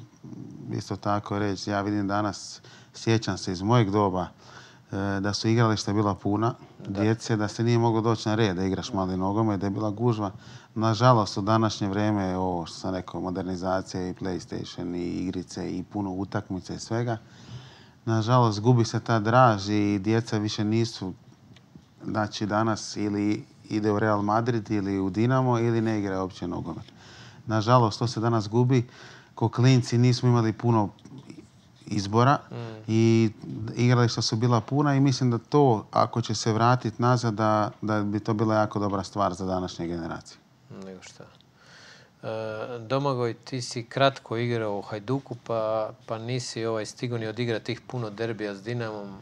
isto tako reći, ja vidim danas, sjećam se iz mojeg doba, da su igrališta bila puna djece, da se nije moglo doći na red da igraš mali nogomet, da je bila gužva. Nažalost, u današnje vrijeme, ovo što sam rekao, modernizacija i PlayStation i igrice i puno utakmice i svega, nažalost, gubi se ta draž i djeca više nisu, znači danas ili ide u Real Madrid ili u Dinamo ili ne igra uopće nogomet. Nažalost, to se danas gubi. Ko klinci nismo imali puno izbora i igrališta su bila puna i mislim da to, ako će se vratiti nazad, da bi to bila jako dobra stvar za današnje generacije. Nego šta. Domagoj, ti si kratko igrao u Hajduku, pa nisi stigao ni odigrati tih puno derbija s Dinamom.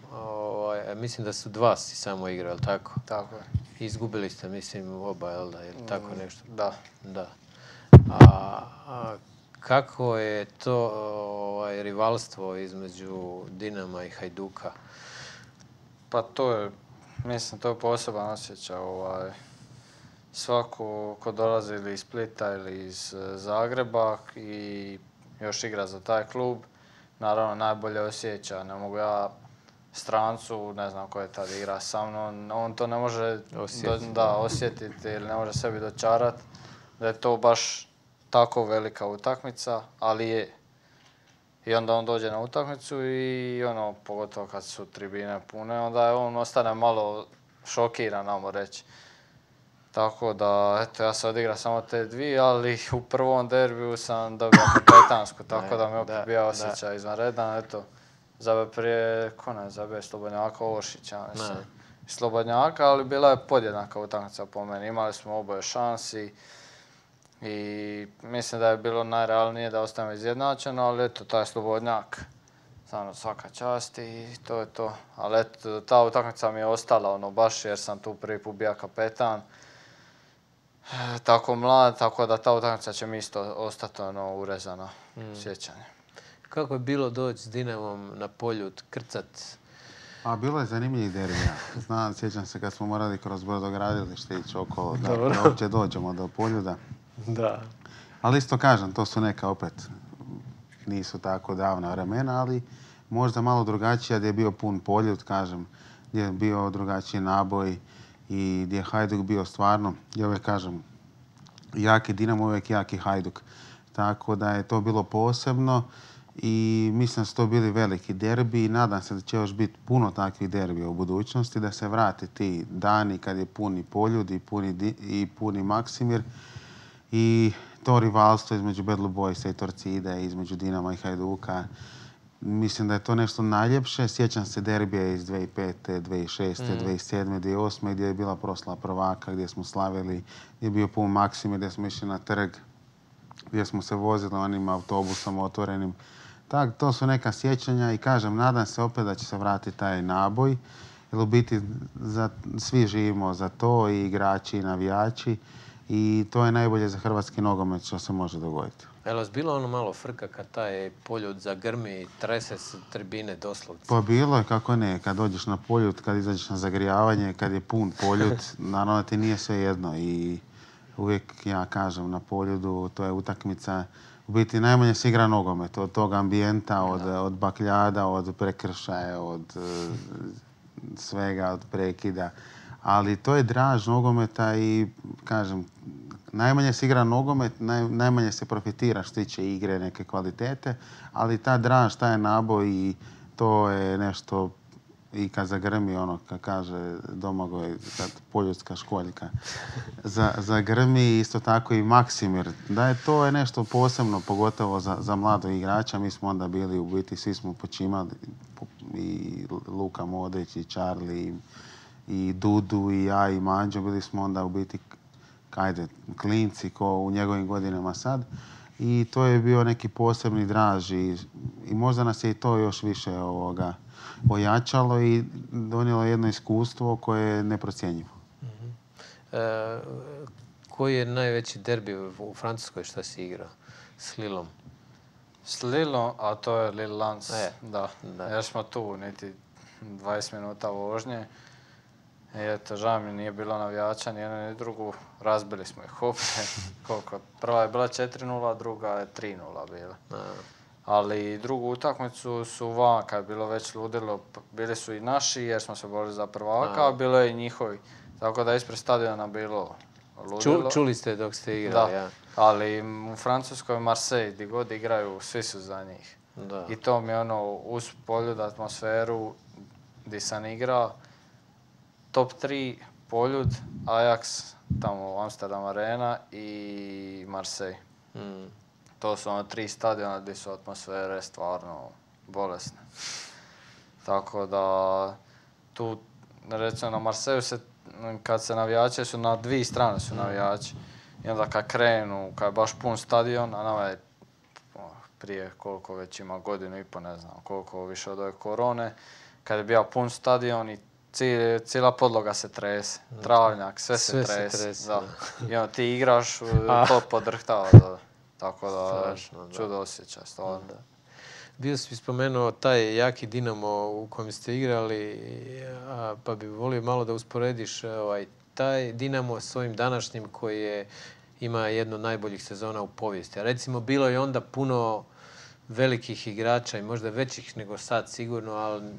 Mislim da su 2 si samo igrao, jel tako? Tako je. Izgubili ste, mislim, oba, jel da? Jel tako nešto? Da. Kako je to rivalstvo između Dinama i Hajduka? Pa to je poseban osjećaj. Svako ko dolazi ili iz Splita ili iz Zagreba i još igra za taj klub, naravno najbolje osjeća. Ne mogu ja strancu, ne znam ko je tad igra sa mnom, on to ne može osjetiti ili ne može sebi dočarati da je to baš tako velika utakmica, ali je. I onda on dođe na utakmicu i pogotovo kad su tribine pune, onda on ostane malo šokiran, ajmo reći. Tako da, eto, ja sam odigrao samo te dvije, ali u prvom derbiju sam dobio kapetansku, tako da mi opet bio osjećaj izvanredan. Eto, zabio prije, zabio Slobodnjaka Ošića, mislim. Slobodnjaka, ali bila je podjednaka utakmica po meni. Imali smo oboje šansi i mislim da je bilo najrealnije da ostanemo izjednačeno, ali eto, taj Slobodnjak, stvarno svaka čast i to je to. Ali eto, ta utakmica mi je ostala, baš jer sam tu prvi put bio kapetan. Tako mlad, tako da ta utakmica će mi isto ostati urezano sjećanje. Kako je bilo doći s Dinamom na Poljud, krcat? Bilo je zanimljivih derbija. Sjećam se kad smo morali kroz brodogradilište ići okolo da uopće dođemo do Poljuda. Da. Ali isto kažem, to su neka opet, nisu tako davna vremena, ali možda malo drugačija gdje je bio pun Poljud, kažem, gdje je bio drugačiji naboj i gdje je Hajduk bio stvarno, ja uvijek kažem, jaki Dinamo, uvijek jaki Hajduk. Tako da je to bilo posebno i mislim da su to bili veliki derbi i nadam se da će još biti puno takvih derbija u budućnosti, da se vrate ti dani kad je puni Poljud i puni Maksimir i to rivalstvo između Bad Blue Boysa i Torcide, između Dinama i Hajduka. Mislim da je to nešto najljepše. Sjećam se derbija iz 2005., 2006., 2007., 2008. gdje je bila proslava prvaka, gdje smo slavili, gdje je bio pun Maksimir, gdje smo išli na trg, gdje smo se vozili onim autobusom otvorenim. Tak, to su neka sjećanja i kažem, nadam se opet da će se vratiti taj naboj. Jer u biti svi živimo za to, i igrači i navijači. I to je najbolje za hrvatski nogomet što se može dogoditi. Je li vas bilo ono malo frka kad taj Poljud zagrmi i trese se tribine doslovce? Pa bilo je, kako ne. Kad dođeš na Poljud, kad izađeš na zagrijavanje, kad je pun Poljud, naravno ti nije sve jedno. I uvijek ja kažem na Poljudu, to je utakmica. U biti najmanje se igra nogomet. Od tog ambijenta, od bakljada, od prekršaja, od svega, od prekida. Ali to je draž nogometa i, kažem, najmanje se igra nogomet, najmanje se profitira što tiče igre, neke kvalitete, ali ta draž, taj naboj i to je nešto i kad zagrmi ono, kad kaže Domagoj, kad poljudska školjka, zagrmi isto tako i Maksimir. Da je to je nešto posebno, pogotovo za mladog igrača. Mi smo onda bili u biti, svi smo počimali, i Luka Modrić, i Charlie, i Dudu, i ja, i Manđo. Bili smo onda u biti klinci ko u njegovim godinama sad. I to je bio neki posebni draž i možda nas je i to još više ojačalo i donijelo jedno iskustvo koje je neprocjenjivo. Koji je najveći derbi u Francuskoj što si igrao? S Lillom? S Lillom, a to je Lille Lens. Da. Jer smo tu niti 20 minuta vožnje. I eto, žao mi nije bilo navijača, ni jednu ni drugu. Razbili smo ih opet. Prva je bila 4-0, druga je 3-0 bila. Ali drugu utakmicu su van, kad je bilo već ludilo, bili su i naši jer smo se borili za prvaka, a bilo je i njihovi. Tako da ispred stadiona bilo ludilo. Čuli ste dok ste igrali, da. Ali u Francuskoj Marseille, gdje god igraju, svi su za njih. Da. I to mi je uz Poljud atmosferu gdje sam igrao. Top 3 Poljud, Ajax, tamo Amsterdam Arena i Marseille. To su 3 stadiona gdje su atmosfere stvarno bolesne. Tako da tu, recimo na Marseillu kad se navijači su na 2 strane su navijači. I onda kad krenu, kad je baš pun stadion, a nama je prije koliko već ima godinu i po, ne znam koliko više od ove korone, kad je bio pun stadion i cijela podloga se trese, travnjak, sve se trese. I onda ti igraš, to podrhtava. Tako da, čudo osjećaj, stvarno. Bio si spomenuo taj jaki Dinamo u kojem ste igrali, pa bi volio malo da usporediš taj Dinamo s ovim današnjim koji ima jednu od najboljih sezona u povijesti. A recimo, bilo je onda puno velikih igrača i možda većih nego sad sigurno, ali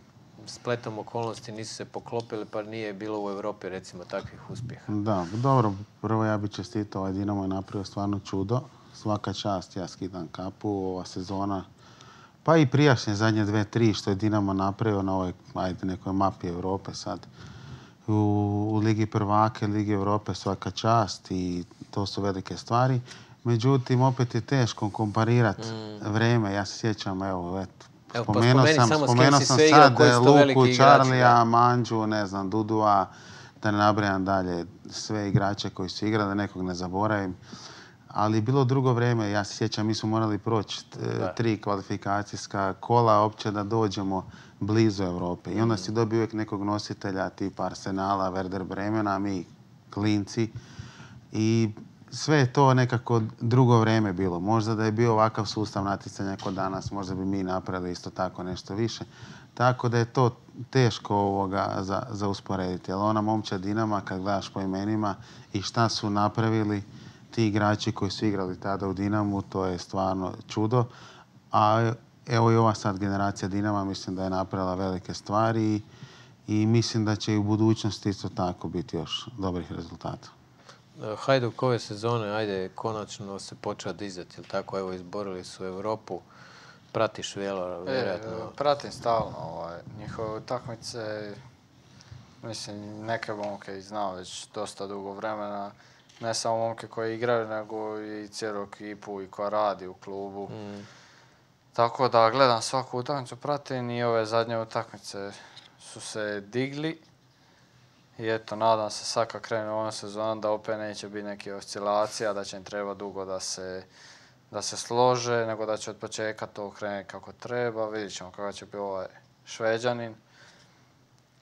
spletom okolnosti nisu se poklopili, pa nije bilo u Europi recimo takvih uspjeha. Da, dobro, prvo ja bih čestitao, Dinamo je napravio stvarno čudo. Svaka čast, ja skidam kapu, ova sezona, pa i prijašnje zadnje 2-3 što je Dinamo napravio na ovoj nekoj mapi Europe sad. u Ligi prvaka, Ligi Europe svaka čast i to su velike stvari. Međutim, opet je teško komparirati vreme. Ja se sjećam, spomenuo sam sad Luku, Charlija, Mandžu, ne znam, Dudua, da ne nabrajam dalje sve igrače koji su igrali, da nekog ne zaboravim. Ali bilo drugo vrijeme, ja se sjećam, mi smo morali proći 3 kvalifikacijska kola opće da dođemo blizu Europe. I onda si dobio uvijek nekog nositelja tipa Arsenala, Werder Bremena, mi klinci. I sve je to nekako drugo vrijeme bilo. Možda da je bio ovakav sustav natjecanja kod danas, možda bi mi napravili isto tako nešto više. Tako da je to teško za usporediti. Ali ona momčad Dinama, kad gledaš po imenima i šta su napravili ti igrači koji su igrali tada u Dinamu, to je stvarno čudo. A evo i ova sad generacija Dinama mislim da je napravila velike stvari i mislim da će i u budućnosti isto tako biti još dobrih rezultata. Hajduk ove sezone, ajde, konačno se počeo dizati, jel tako? Evo, izborili su Europu. Pratiš vjerojatno? Pratim stalno njihove utakmice. Mislim, neke momke znam već dosta dugo vremena. Ne samo momke koji igraju, nego i cijelu ekipu i koja radi u klubu. Tako da gledam svaku utakmicu, pratim i ove zadnje utakmice su se digli. I eto, nadam se sad kad krenu ovom sezonom da opet neće biti neke oscilacija, da će im treba dugo da se slože, nego da će od početka to krenuti kako treba. Vidjet ćemo kako će biti ovaj Šveđanin.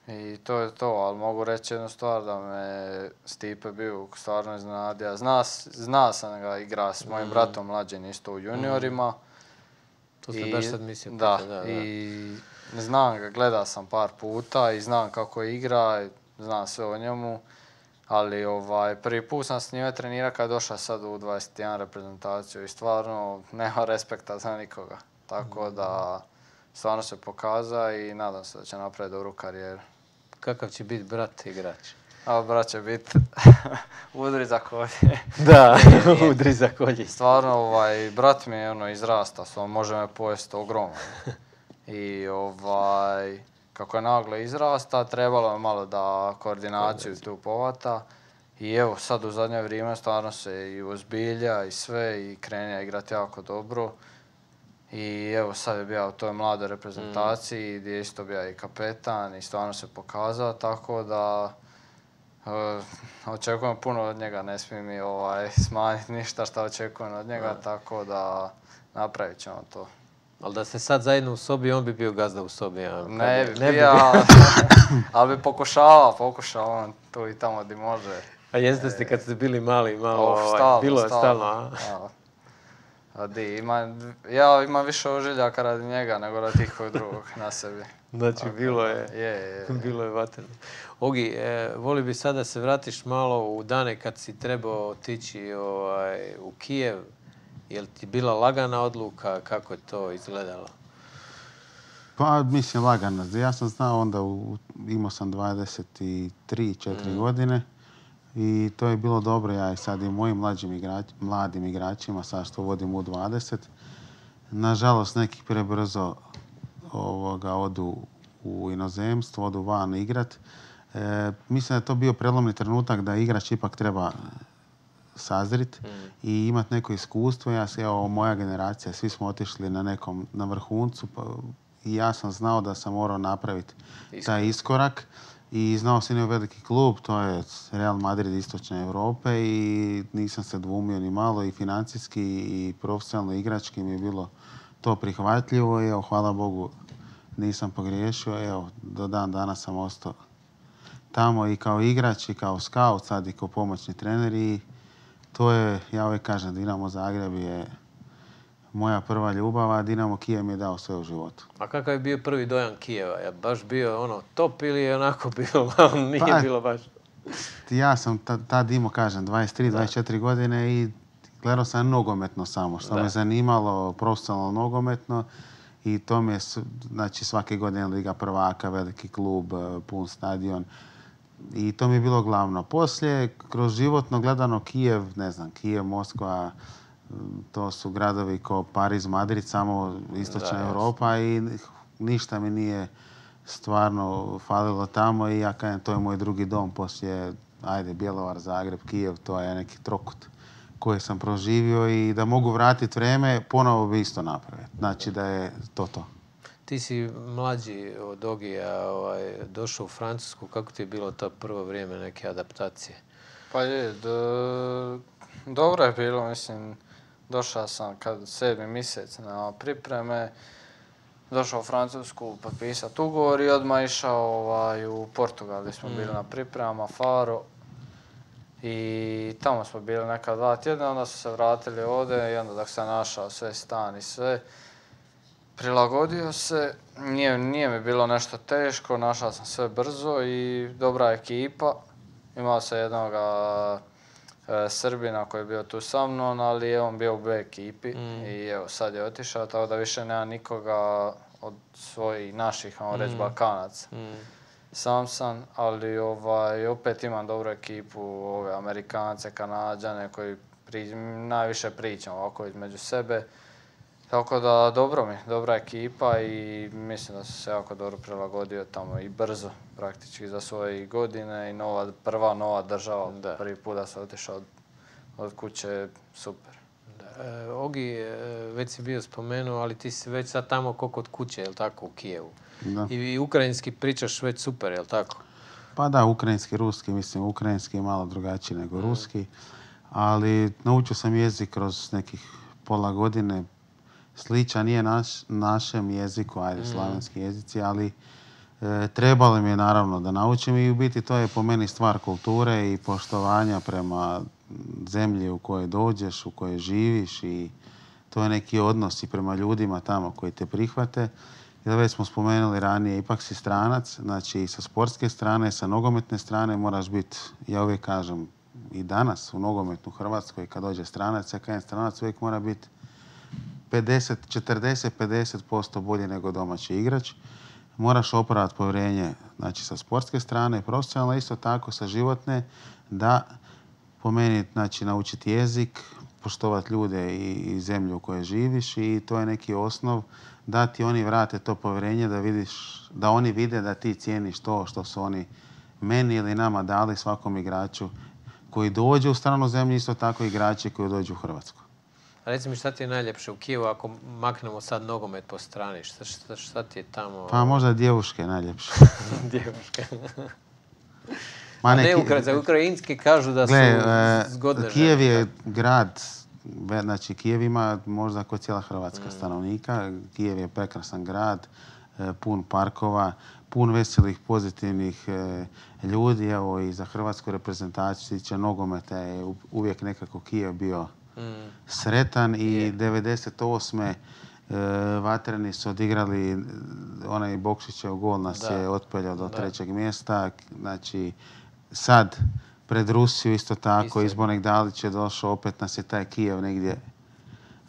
I to je to, ali mogu reći jednu stvar da me Stipe Bijuk stvarno iznenadio. Zna sam ga igra s mojim bratom mlađim isto u juniorima. To sam baš sad mislio. Da, i znam ga, gledao sam par puta i znam kako igra, znam sve o njemu. Ali prvi put sam s njime trenirao kad je došao sad u 21 reprezentaciju i stvarno nema respekta za nikoga. Tako da stvarno se pokaza i nadam se da će napraviti dobru karijeru. Kakav će biti brat igrač? A brat će biti udri za kolje. Da, udri za kolje. Stvarno, brat mi je izrasta, može me pojesti ogromno. I kako je naglo izrasta, trebalo je malo da koordinaciju tu povata. I evo, sad u zadnje vrijeme stvarno se i ozbilja i sve i krenja igrati jako dobro. I evo, sad je bio u toj mladoj reprezentaciji gdje je isto bio i kapetan i stvarno se pokazao, tako da očekujem puno od njega, ne smije mi smanjiti ništa što očekujem od njega, tako da napravit ćemo to. Ali da ste sad zajedno u sobi, on bi bio gazda u sobi. Ne bi bio, ali bi pokušao on tu i tamo gdje može. A jeste ste kad ste bili mali, malo bilo je stalno. Ja imam više ožiljaka radi njega nego radi ikog drugog na sebi. Znači, bilo je vatreno. Ogi, voli bi sad da se vratiš malo u dane kad si trebao otići u Kijev. Je li ti bila lagana odluka? Kako je to izgledalo? Pa, mislim, lagana. Ja sam znao onda, imao sam 23-4 godine i to je bilo dobro. Ja i sad i mojim mladim igračima, sad što vodim u 20, nažalost neki prebrzo odu u inozemstvo, odu van igrat. Mislim da je to bio prelomni trenutak da igrač ipak treba sazrit i imati neko iskustvo. Moja generacija, svi smo otišli na vrhuncu i ja sam znao da sam morao napraviti taj iskorak i znao sam i veliki klub, to je Real Madrid istočne Europe i nisam se dvumio ni malo i financijski i profesionalno igrački mi je bilo to prihvatljivo i hvala Bogu nisam pogriješio. Do dan danas sam ostao tamo i kao igrač i kao scout, sad i kao pomoćni trener i to je, ja uvijek kažem, Dinamo Zagreb je moja prva ljubav, a Dinamo Kijev mi je dao sve u životu. A kakav je bio prvi dojam Kijeva? Je baš bio top ili je onako bilo, nije bilo baš? Ja sam tad imao, kažem, 23-24 godine i gledao sam nogometno samo, što me zanimalo, profesionalno nogometno. I to mi je, znači, svake godine Liga prvaka, veliki klub, pun stadion. I to mi je bilo glavno. Poslije, kroz životno gledano Kijev, ne znam, Kijev, Moskva, to su gradovi kao Pariz, Madrid, samo istočna Europa i ništa mi nije stvarno falilo tamo i ja kažem, to je moj drugi dom poslije, Bjelovar, Zagreb, Kijev, to je neki trokut koji sam proživio i da mogu vratiti vrijeme, ponovo bi isto napraviti. Znači da je to. Ti si mlađi od Ogija, došao u Francusku, kako ti je bilo to prvo vrijeme neke adaptacije? Pa je, dobro je bilo, mislim, došao sam kad 7. mjesec na pripreme, došao u Francusku potpisati ugovor i odmah išao u Portugal gdje smo bili na pripremama, Faro. I tamo smo bili neka 2 tjedna, onda su se vratili ovdje i onda dok sam našao sve stan i sve, prilagodio se, nije mi bilo nešto teško, našao sam sve brzo i dobra ekipa. Imao sam jednog Srbina koji je bio tu sa mnom, ali je on bio u B ekipi i evo sad je otišao, tako da više nema nikoga od svojih naših, reći Balkanaca. Sam sam, ali opet imam dobru ekipu, ove Amerikance, Kanađane koji najviše pričam ovako između sebe. Tako da dobra ekipa i mislim da sam se jako dobro prilagodio tamo i brzo praktički za svoje godine i prva nova država. Prvi put da sam otišao od kuće, super. Ogi, već si bio spomenuo, ali ti si već sad tamo ko kod kuće, je li tako, u Kijevu? Da. I ukrajinski pričaš već super, je li tako? Pa da, ukrajinski, ruski, mislim, ukrajinski je malo drugačiji nego ruski, ali naučio sam jezik kroz nekih pola godine, sličan nije našem jeziku, slavenski jezici, ali trebalo mi je naravno da naučim i u biti to je po meni stvar kulture i poštovanja prema zemlji u kojoj dođeš, u kojoj živiš i to je neki odnos i prema ljudima tamo koji te prihvate. Jer već smo spomenuli ranije, ipak si stranac, znači i sa sportske strane, sa nogometne strane moraš biti, ja uvijek kažem, i danas u nogometnu Hrvatskoj kad dođe stranac, ja kažem stranac uvijek mora biti 40-50% bolji nego domaći igrač. Moraš opravdati povjerenje, znači sa sportske strane, profesionalno isto tako sa životne, da po meni znači naučiti jezik, poštovati ljude i zemlju u kojoj živiš i to je neki osnov da ti oni vrate to povjerenje, da oni vide da ti cijeniš to što su oni meni ili nama dali, svakom igraču koji dođe u stranu zemlju, isto tako igrači koji dođu u Hrvatsku. A reci mi šta ti je najljepše u Kijevu ako maknemo sad nogomet po strani? Šta ti je tamo? Pa možda djevuške najljepše. Djevuške. Za ukrajinski kažu da su zgodne žene. Kijev je grad, znači Kijev ima možda kao cijela Hrvatska stanovnika. Kijev je prekrasan grad, pun parkova, pun veselih, pozitivnih ljudi. Evo i za hrvatsku reprezentaciju tiče nogometa je uvijek nekako Kijev bio sretan i 98. Vatreni su odigrali onaj Bokšićev gol nas je otpeljao do 3. mjesta. Znači sad pred Rusiju isto tako, Izbornik Dalić je došao, opet nas je taj Kijev negdje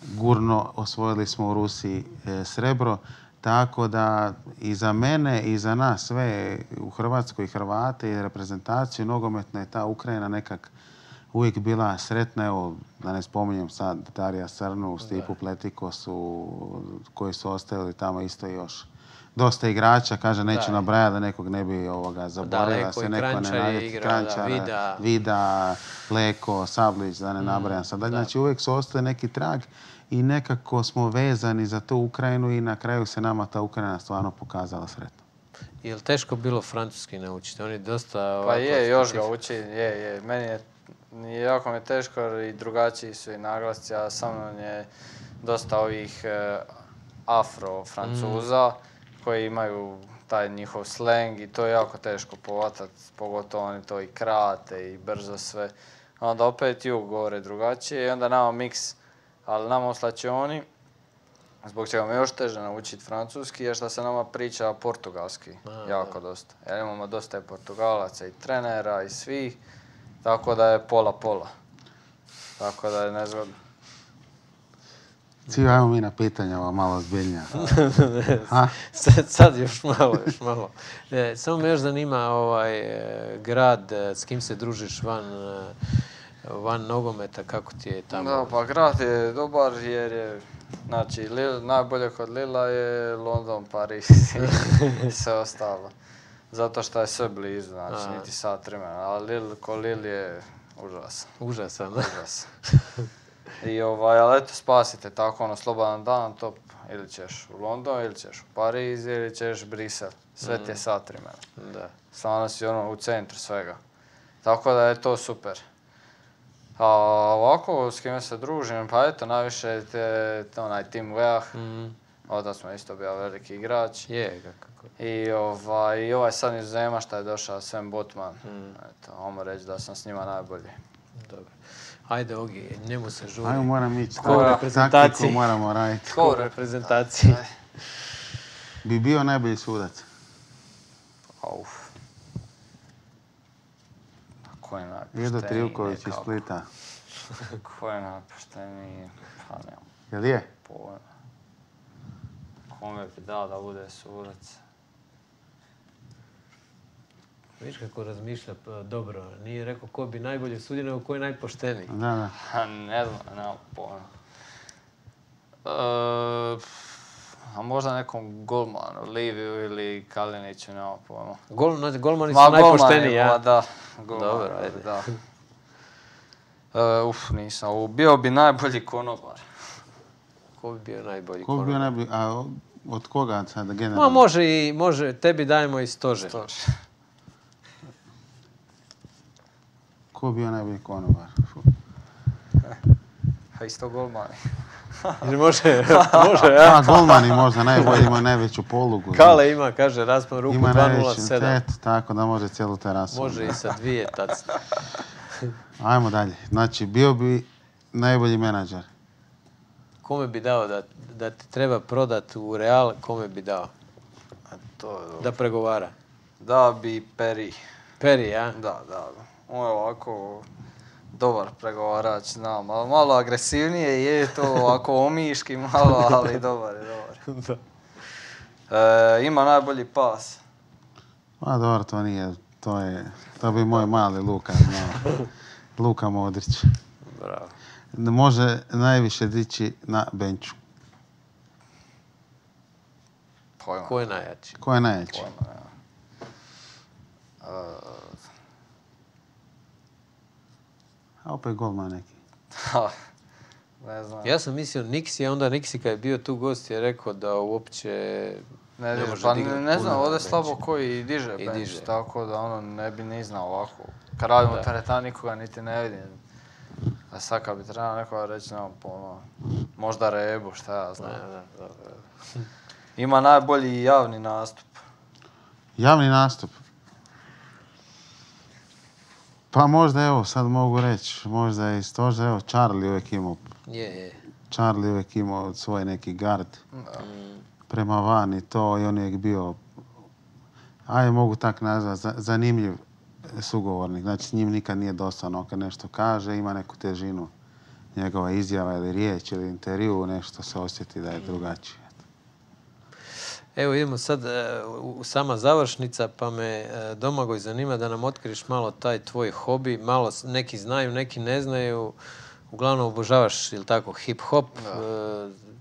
gurno, osvojili smo u Rusiji srebro. Tako da i za mene i za nas sve u Hrvatskoj i Hrvate i reprezentaciju nogometna je ta Ukrajina nekak uvijek bila sretna. Evo, da ne spominjem sad Darija Srnu, Stipu Pletikosu, koji su ostavili tamo isto još dosta igrača, kaže neću nabrajati da nekog ne bi zaboravio, da se neko ne naljeti. Krančara, Vida, Leko, Sablić, da ne nabrajam sad. Znači uvijek su ostali neki trag i nekako smo vezani za tu Ukrajinu i na kraju se nama ta Ukrajina stvarno pokazala sretno. Je li teško bilo francuski naučiti? Oni dosta... Pa je, još ga uči, je. Meni je jako mi teško i drugačiji su i naglasci, a sa mnom je dosta ovih afro-francuza koji imaju taj njihov sleng i to je jako teško povatati, pogotovo oni to i krate i brzo sve. Onda opet jug govore drugačije i onda nama miks, ali nama u slačioni, zbog čega mi je još teže naučiti francuski, je što se nama priča portugalski jako dosta. Jer imamo dosta i Portugalaca i trenera i svih, tako da je pola-pola. Tako da je nezgodno. Cio, ajmo mi na pitanja malo zbiljnija. Sad još malo. Samo me još zanima grad, s kim se družiš van van nogometa, kako ti je tamo? Da, pa grad je dobar jer je, znači, najbolje kod Lila je London, Pariz i sve ostalo. Zato što je sve blizu, znači, niti sat vremena, ali Lil je užasan. Užasan, da? Užasan. Ali eto, spasite tako, ono, slobodan dan, top. Ili ćeš u London, ili ćeš u Pariz, ili ćeš Brisel. Sve ti je sat vremena. Da. Stvarno si ono u centru svega. Tako da je to super. A ovako, s kime se družim, pa eto, najviše onaj Tim Weah. Onda smo isto bio veliki igrač. Je, kako. I ovaj sad iz Zema što je došao, Sam Botman. Eto, ajmo reći da sam s njima najbolji. Dobro. Ajde, Ogi, njemu se žuri. Ajmo, moram ići. Ko u reprezentaciji? Taktiku moramo raditi. Ko u reprezentaciji? Bi bio najbolji sudac. Auf. Ko je najpošteniji? Edo Trivković iz Splita. Ko je najpošteniji? Pa nemam Jel je? pojma. Kome bi dao da bude sudac? Viš kako razmišlja dobro. Nije rekao ko bi najbolje sudio, nego ko je najpošteniji. Da. Ne znam, nemam pojma. A možda nekom golmanu, Liviju ili Kaliniću, nemam pojma. Golmani su najpošteniji, ja? Da. Dobro, ajde. Da. Nisam. Bio bi najbolji konobar. Ko bi bio najbolji Ko bi bio najbolji? A od koga sada generalno? Ma može, tebi dajemo i stožer. Ko bi bio najbolji konobar? A isto golmani. Može, ja. A golmani možda najbolji, ima najveću polugu. Kale ima, kaže, raspon ruku ima 2.07. Tako da može cijelu terasu. Može i sa 2 tacne. Ajmo dalje. Znači, bio bi najbolji menadžer. Kome bi dao da ti treba prodati u Real, kome bi dao? Da pregovara. Da bi Peri. Peri, ja? Da. On je ovako dobar pregovarač, znam. Malo agresivnije je to, ovako omiški malo, ali dobar je. Ima najbolji pas. Pa dobro, to nije. To bi moj mali Luka znao. Luka Modrić. Bravo. Može najviše dići na benču. Pojma. Ko je najjači? Ko je najjači? Pojma, ja. A opet golman neki. Ne znam. Ja sam mislio Niksi, a onda Niksi kad je bio tu gost je rekao da uopće ne može dignuti ne znam, puno ovdje na slabo bench. koji diže bench, tako da ono ne bi ni znao ovako. Kad radimo teretana nikoga niti ne vidim. A sad kad bi trebao nekoga reći, nemam pojma, možda Rebu, šta ja znam. Da. Ima najbolji javni nastup. Javni nastup? Pa možda, evo, sad mogu reći, možda i stožer, evo, Charlie uvijek imao. Je. Charlie uvijek imao svoj neki gard prema van i to, i on je uvijek bio, mogu tak nazvati, zanimljiv sugovornik. Znači, s njim nikad nije dosadno kad nešto kaže, ima neku težinu njegova izjava ili riječ ili intervju, nešto se osjeti da je drugačije. Evo idemo sad u sama završnica, pa me Domagoj zanima da nam otkriš malo taj tvoj hobi. Malo neki znaju, neki ne znaju. Uglavnom obožavaš, ili tako, hip-hop.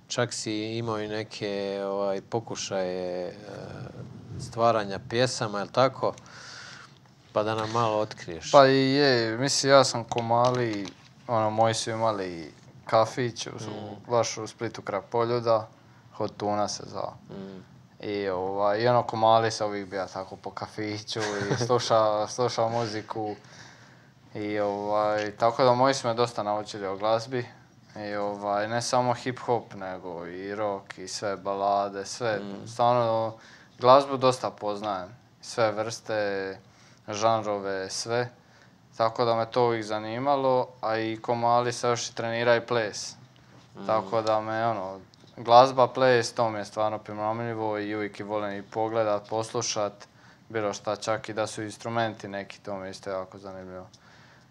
Čak si imao i neke pokušaje stvaranja pjesama, ili tako? Pa da nam malo otkriješ. Pa i je, mislim, ja sam ko mali, moji su imali kafić baš u Splitu kraj Poljuda, Hot Tuna se zvao. I ko mali sam uvijek bio tako po kafiću i slušao muziku. I tako da moji su me dosta naučili o glazbi. I ne samo hip-hop, nego i rock i sve balade, sve. Stvarno, glazbu dosta poznajem. Sve vrste, žanrove, sve. Tako da me to uvijek zanimalo, a i ko mali se još i trenira i ples. Tako da me, glazba, ples, to mi je stvarno primamljivo i uvijek volim i pogledat, poslušat, bilo šta, čak i da su instrumenti neki, to mi je isto jako zanimljivo.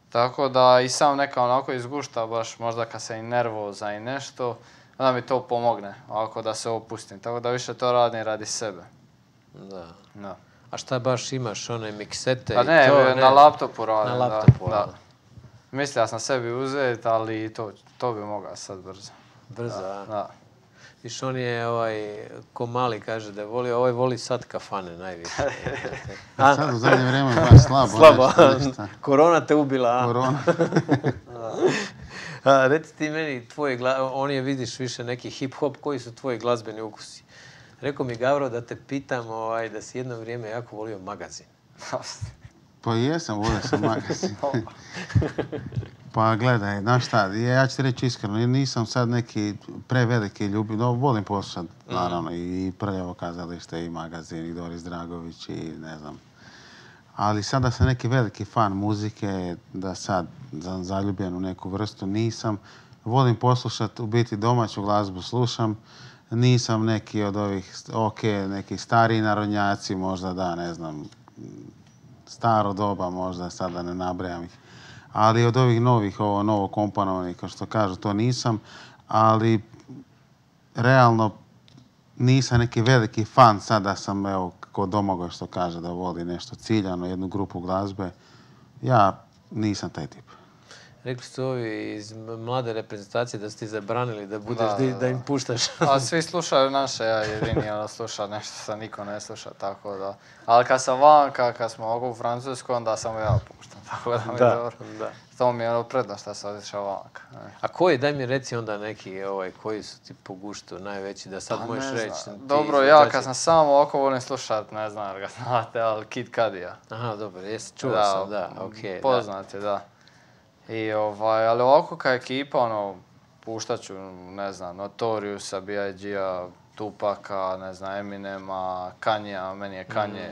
Tako da i sam neka onako izgušta, baš možda kad se i nervoza i nešto, onda mi to pomogne, ovako da se opustim. Tako da više to radim radi sebe. Da. A šta baš imaš, one miksete i to? Pa ne, na laptopu radim, na laptopu, da. Mislio sam sebi uzeti, ali to bi mogao sad brzo. Brzo, a? Da. Viš, on je ko mali kaže da je volio, ovaj voli sad kafane najviše. Sad u zadnje vrijeme baš slabo. Slabo, Nešto. korona te ubila, a? Korona. Reci ti meni, on je, vidiš, više neki hip-hop, koji su tvoji glazbeni ukusi? Rekao mi Gavro da te pitam da si jedno vrijeme jako volio Magazin. Pa jesam, volio sam Magazin. Pa gledaj, znaš šta, ja ću ti reći iskreno, nisam sad neki preveliki ljubitelj, no volim poslušati, naravno, i Prljavo kazalište, i Magazin, i Doris Dragović, i ne znam. Ali sada sam neki veliki fan muzike, da sad zaljubljen u neku vrstu nisam. Volim poslušati, u biti domaću glazbu slušam. Nisam neki od ovih, neki stariji narodnjaci, možda da, ne znam, staro doba možda, sada ne nabrajam ih. Ali od ovih novih, novo komponovanih, kao što kažu, to nisam. Ali realno nisam neki veliki fan, sada sam, evo, kod Domagoj što kaže da voli nešto ciljano, jednu grupu glazbe. Ja nisam taj tip. Rekli su ovi iz mlade reprezentacije da su ti zabranili da budeš, da im puštaš. A svi slušaju naše, ja jedini sluša nešto što niko ne sluša, tako da. Ali kad sam vanka, kad smo ovako u Francuskoj, onda samo ja puštam, tako da mi je dobro. Da. To mi je prednost što sam otišao vanka. A koji, daj mi reci onda neki koji su ti po guštu najveći, da sad možeš reći. Dobro, ja kad sam sam ovako volim slušat, ne znam da ga znate, ali Kid Cudija. Aha, dobro, čuo sam, da, okej. Poznat je, da. I ali ovako kao ekipa, puštat ću, ne znam, Notoriusa, B.I.G.-a, Tupaka, ne znam, Eminema, Kanyea, meni je Kanye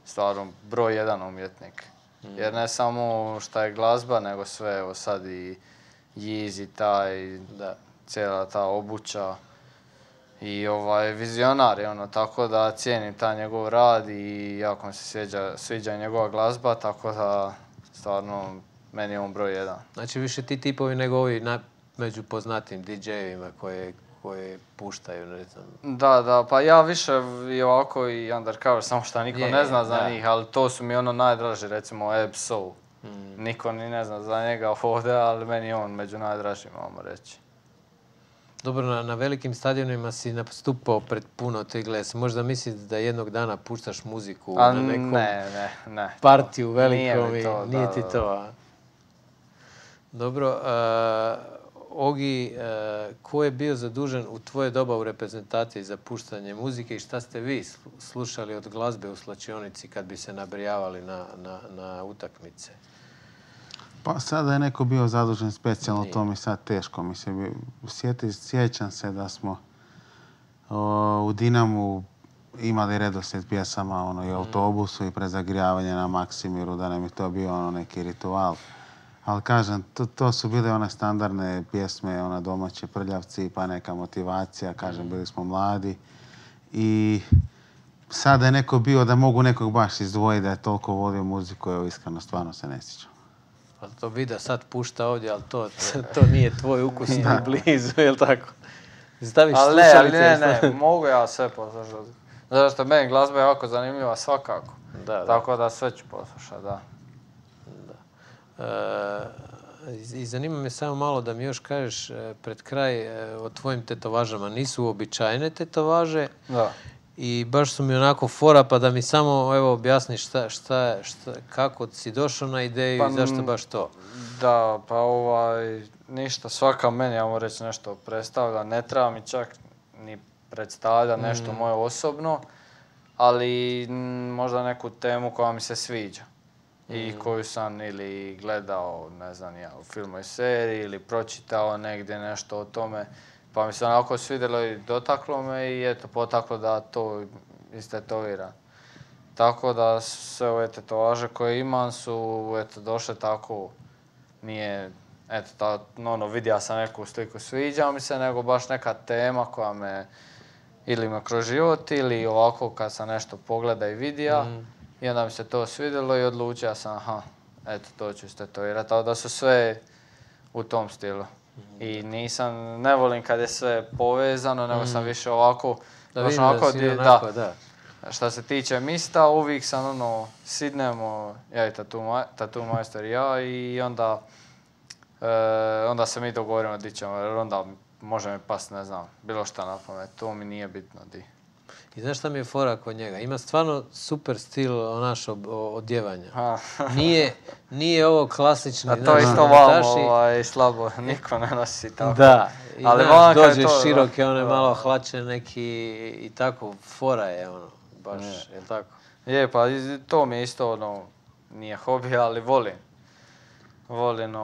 stvarno broj jedan umjetnik. Jer ne samo šta je glazba, nego sve, evo sad i Yeezy taj, cijela ta obuća. I vizionar je tako da cijenim taj njegov rad i jako mi se sviđa njegova glazba, tako da stvarno meni je on broj jedan. Znači više ti tipovi nego ovi među poznatim DJ-evima koje puštaju, ne znam. Da, pa ja više i ovako i undercover, samo što niko ne zna za njih, ali to su mi najdraži, recimo Ab Soul. Niko ni ne zna za njega ovdje, ali meni je on među najdražima, možemo reći. Dobro, na velikim stadionima si nastupao pred puno tegle. Možda misliš da jednog dana puštaš muziku na nekom partiju velikom i nije ti to, a? Dobro, Ogi, ko je bio zadužen u tvoje doba u reprezentaciji za puštanje muzike i šta ste vi slušali od glazbe u slačionici kad bi se nabrijavali na utakmice? Pa sada je neko bio zadužen specijalno, to mi sad teško. Sjećam se da smo u Dinamu imali redoslijed pjesama i autobusu i prezagrijavanje na Maksimiru, da nam je to bio neki ritual. Ali kažem, to su bile one standardne pjesme, domaće Prljavci, pa neka motivacija, kažem, bili smo mladi. I sada je neko bio da mogu nekog baš izdvojiti da je toliko volio muziku, evo iskreno, stvarno se ne sjećam. Pa to Vida sad pušta ovdje, ali to nije tvoj ukus ni blizu, je li tako? Staviš slušalice? Ne, mogu ja sve poslušati. Zato što meni glazba je jako zanimljiva svakako. Tako da sve ću poslušati, da. I zanima me samo malo da mi još kažeš pred kraj o tvojim tetovažama. Nisu uobičajene tetovaže i baš su mi onako fora, pa da mi samo objasniš kako si došao na ideju i zašto baš to. Da, pa ništa, svaka meni, ja moram reći, nešto predstavlja. Ne treba mi čak ni predstavlja nešto moje osobno, ali možda neku temu koja mi se sviđa. I koju sam ili gledao, ne znam ja, u filmu i seriji ili pročitao negdje nešto o tome. Pa mi se onako svidjelo i dotaklo me i eto, potaklo da to istetoviram. Tako da sve ove tetovaže koje imam su došle tako, nije, vidio sam neku sliku, sviđa mi se, nego baš neka tema koja me ili me kroz život ili ovako kad sam nešto pogleda i vidio. I onda mi se to svidjelo i odlučio sam, to ću istetovirati. Tako da su sve u tom stilu. I ne volim kad je sve povezano, nego sam više ovako, Što se tiče mista, uvijek sam sidnemo, ja i tattoo majster i ja, i onda Onda se mi dogovorimo di ćemo, jer onda može mi past, ne znam, bilo šta na pamet, to mi nije bitno di. I znaš šta mi je fora kod njega? Ima stvarno super stil odjevanja. A. Nije ovo klasični... A to je isto vamo slabo, niko ne nosi tako. Da, i ali znaš, dođe to, široke, one malo hlače neki i tako, fora je ono, baš, je li tako? Je, pa to mi je isto ono, nije hobi, ali volim. Volim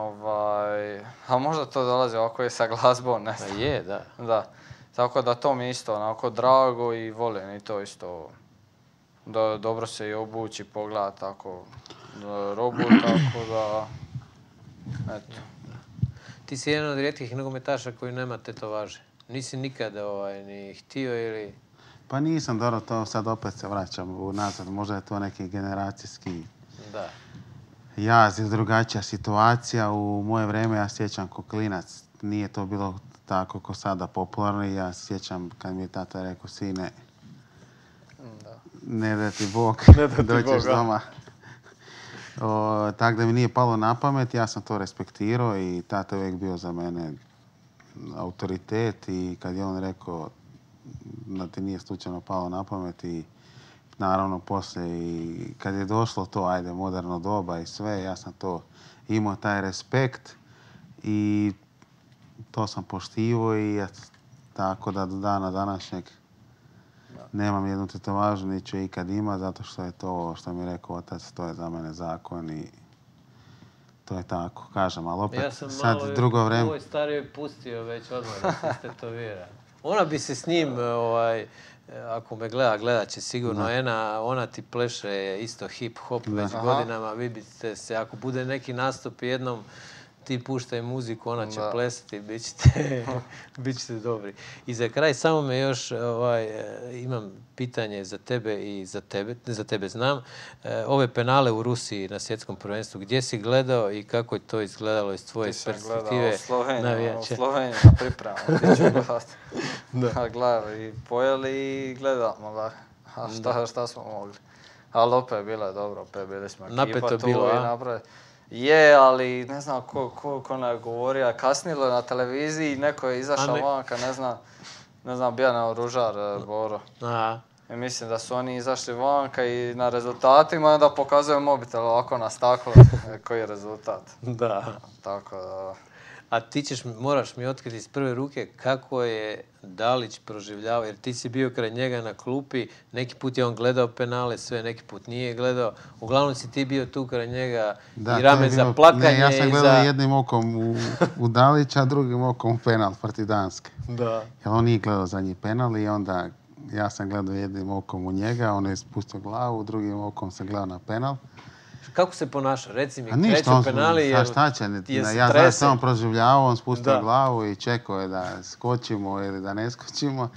a možda to dolazi ovako je sa glazbom, ne znam. Je, da. Da, tako da to mi je isto onako drago i volim i to isto. Dobro se i obući, pogledati tako robu, tako da, eto. Ti si jedan od rijetkih nogometaša koji nema tetovaže. Nisi nikada ni htio ili... Pa nisam, dobro, to sad opet se vraćam unazad. Možda je to neki generacijski jaz ili drugačija situacija. U moje vrijeme, ja sjećam ko klinac, nije to bilo tako ko sada popularno. I ja sjećam kad mi je tata rekao, sine, ne da ti Bog, doćeš doma. Tako da mi nije palo na pamet, ja sam to respektirao i tata je uvijek bio za mene autoritet i kad je on rekao da ti nije slučajno palo na pamet i naravno poslije i kad je došlo to, ajde, moderno doba i sve, ja sam to imao taj respekt i to sam poštivao i tako da do dana današnjeg nemam jednu tetovažu, niti ću ikad ima, zato što je to, što mi je rekao otac, to je za mene zakon i to je tako, kažem, ali opet sad drugo vreme... Ja sam malo ovoj starijoj pustio već odmah da se stetovira. Ona bi se s njim, ako me gledat će sigurno, ona ti pleše isto hip-hop već godinama, vi biste se, ako bude neki nastup jednom, ti puštaj muziku, ona će plesati, bit ćete dobri. I za kraj, samo me još, imam pitanje za tebe i za tebe znam. Ove penale u Rusiji na svjetskom prvenstvu, gdje si gledao i kako je to izgledalo iz tvoje perspektive? Ti sam gledao u Sloveniji na pripremu. Gledali i pojeli i gledamo, da. Šta smo mogli. Ali opet bilo je dobro, opet bili smo ekipa tu i napravili. Je, ali ne znam ko nam je govorio, kasnilo je na televiziji, neko je izašao vanka, ne znam, bio naoružar Boro. I mislim da su oni izašli vanka i na rezultatima onda pokazuju mobitel ovako na staklo koji je rezultat. Da. Tako da... A ti moraš mi otkriti iz prve ruke kako je Dalić proživljavao, jer ti si bio kraj njega na klupi, neki put je on gledao penale, sve, neki put nije gledao. Uglavnom si ti bio tu kraj njega i rame za plakanje. Ne, ja sam gledao jednim okom u Dalića, a drugim okom u penal protiv Danske. Da. Jer on nije gledao zadnji penal i onda ja sam gledao jednim okom u njega, on je spustio glavu, drugim okom sam gledao na penal. Kako se ponaša? Reci mi, kreću penali, ja znam se on proživljavao, on spustio glavu i čekao je da skočimo ili da ne skočimo.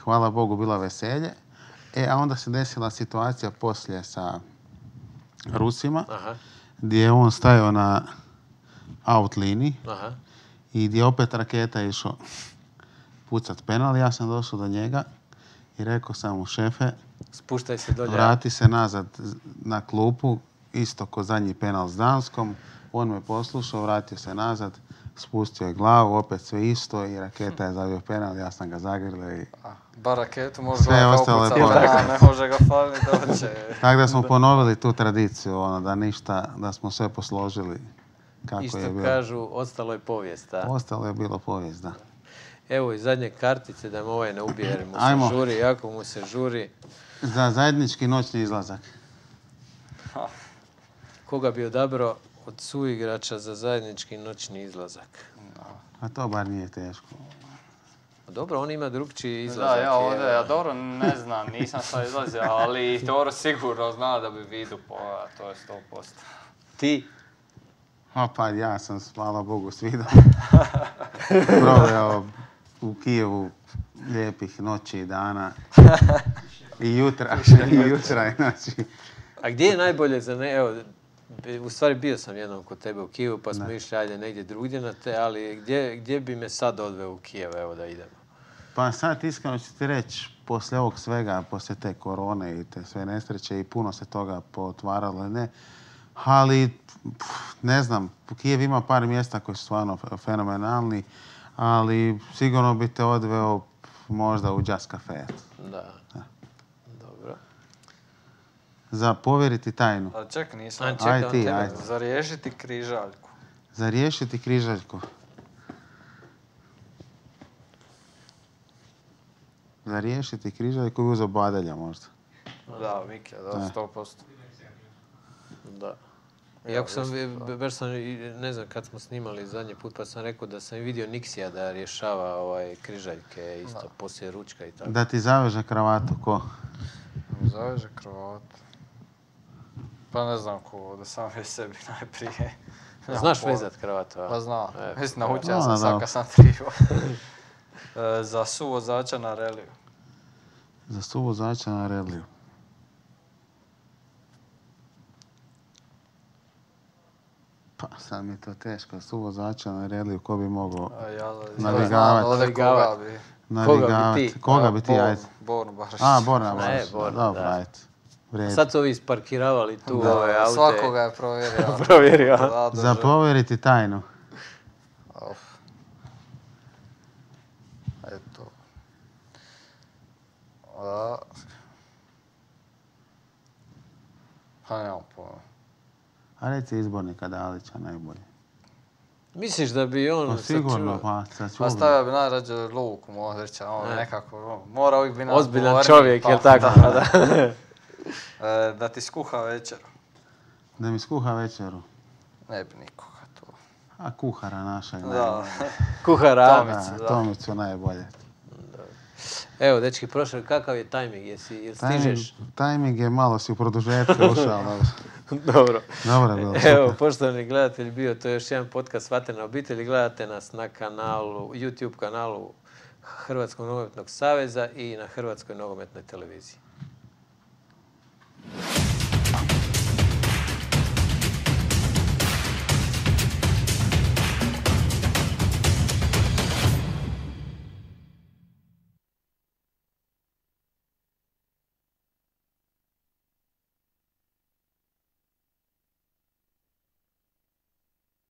Hvala Bogu, bila veselje. A onda se desila situacija poslije sa Rusima, gdje je on stajao na out liniji i gdje je opet raketa išao pucat penal. Ja sam došao do njega i rekao sam mu, šefe, spuštaj se dolje. Vrati se nazad na klupu, isto ko zadnji penal s Danskom. On me poslušao, vratio se nazad, spustio je glavu, opet sve isto i raketa je zabio penal, ja sam ga zagrlio i... Bar raketu može ga kao pucati, ne može ga faliti doće. Tako da smo ponovili tu tradiciju, da ništa, da smo sve posložili kako je bilo. Isto kažu, ostalo je povijest, a? Ostalo je bilo povijest, da. Evo i zadnje kartice da me ovaj ne ubije, jer mu se žuri, jako mu se žuri. Za zajednički noćni izlazak. Koga bi odabrao od suigrača za zajednički noćni izlazak? A to bar nije teško. Dobro, on ima drugčiji izlazak. Da, ja ovdje, dobro, ne znam, nisam sad izlazio, ali Toro sigurno zna da bi vidu pojela, to je 100%. Ti? Pa ja sam, hvala Bogu, svidom proveo u Kijevu lijepih noći i dana i jutra, znači. A gdje je najbolje za evo, u stvari bio sam jednom kod tebe u Kijevu, pa smo išli ajde negdje drugdje na te, ali gdje bi me sad odveo u Kijev, evo da idemo? Pa sad iskreno ću ti reći, poslije ovog svega, poslije te korone i te sve nesreće i puno se toga potvaralo, Ali, ne znam, Kijev ima par mjesta koji su stvarno fenomenalni, ali sigurno bi te odveo možda u Jazz Cafe. Da. Dobro. Za povjeriti tajnu. Ali čekaj, nisam. Čekaj, Aj ti, tebe. aj. Za riješiti križaljku. Za riješiti križaljku. Za riješiti križaljku bi uzeo Badelja možda. Da, Mike, da, 100%. Da. Iako sam, baš sam, ne znam, kad smo snimali zadnji put, pa sam rekao da sam vidio Niksija da rješava križaljke isto poslije ručka i tako. Da ti zaveže kravatu, ko? Zaveže kravatu. Pa ne znam ko, da sam već sebi najprije. Znaš vezat kravatu, a? Pa znam. Mislim, naučio Da, sam da. sad kad sam trivo. Za suvozača na reliju. Za suvozača na reliju. Pa sad mi je to teško. Suvozača na reliju, ko bi mogao navigavati? Koga bi ti, ajde? Bornu Barišić. A, Borna Ne, Barišić. Borna, Dobro, da. ajde. Vrijedi. Sad su ovi isparkiravali tu ove aute. Svakoga je provjerio. Provjerio. Za povjeriti tajnu. Eto. Pa nemam pojma. A reci izbornika Dalića najbolje. Misliš da bi on... Pa sigurno, pa Pa stavio bi najrađe Luku Modrića, on nekako, mora uvijek bi nas Ozbiljan govorni, čovjek, pa, jel tako? Da. Da ti skuha večeru. Da mi skuha večeru. Ne bi nikoga tu. A kuhara našeg Da. najbolje. Kuhara. Tomicu, Tomicu najbolje. Evo, dečki, prošao, kakav je tajming? Jel stižeš? Timing je malo si u produžetku ušao. Dobro. Dobro je bilo. Evo, poštovani gledatelji, bio to je još jedan podcast Vatrena obitelj. Gledate nas na kanalu, YouTube kanalu Hrvatskog nogometnog saveza i na Hrvatskoj nogometnoj televiziji.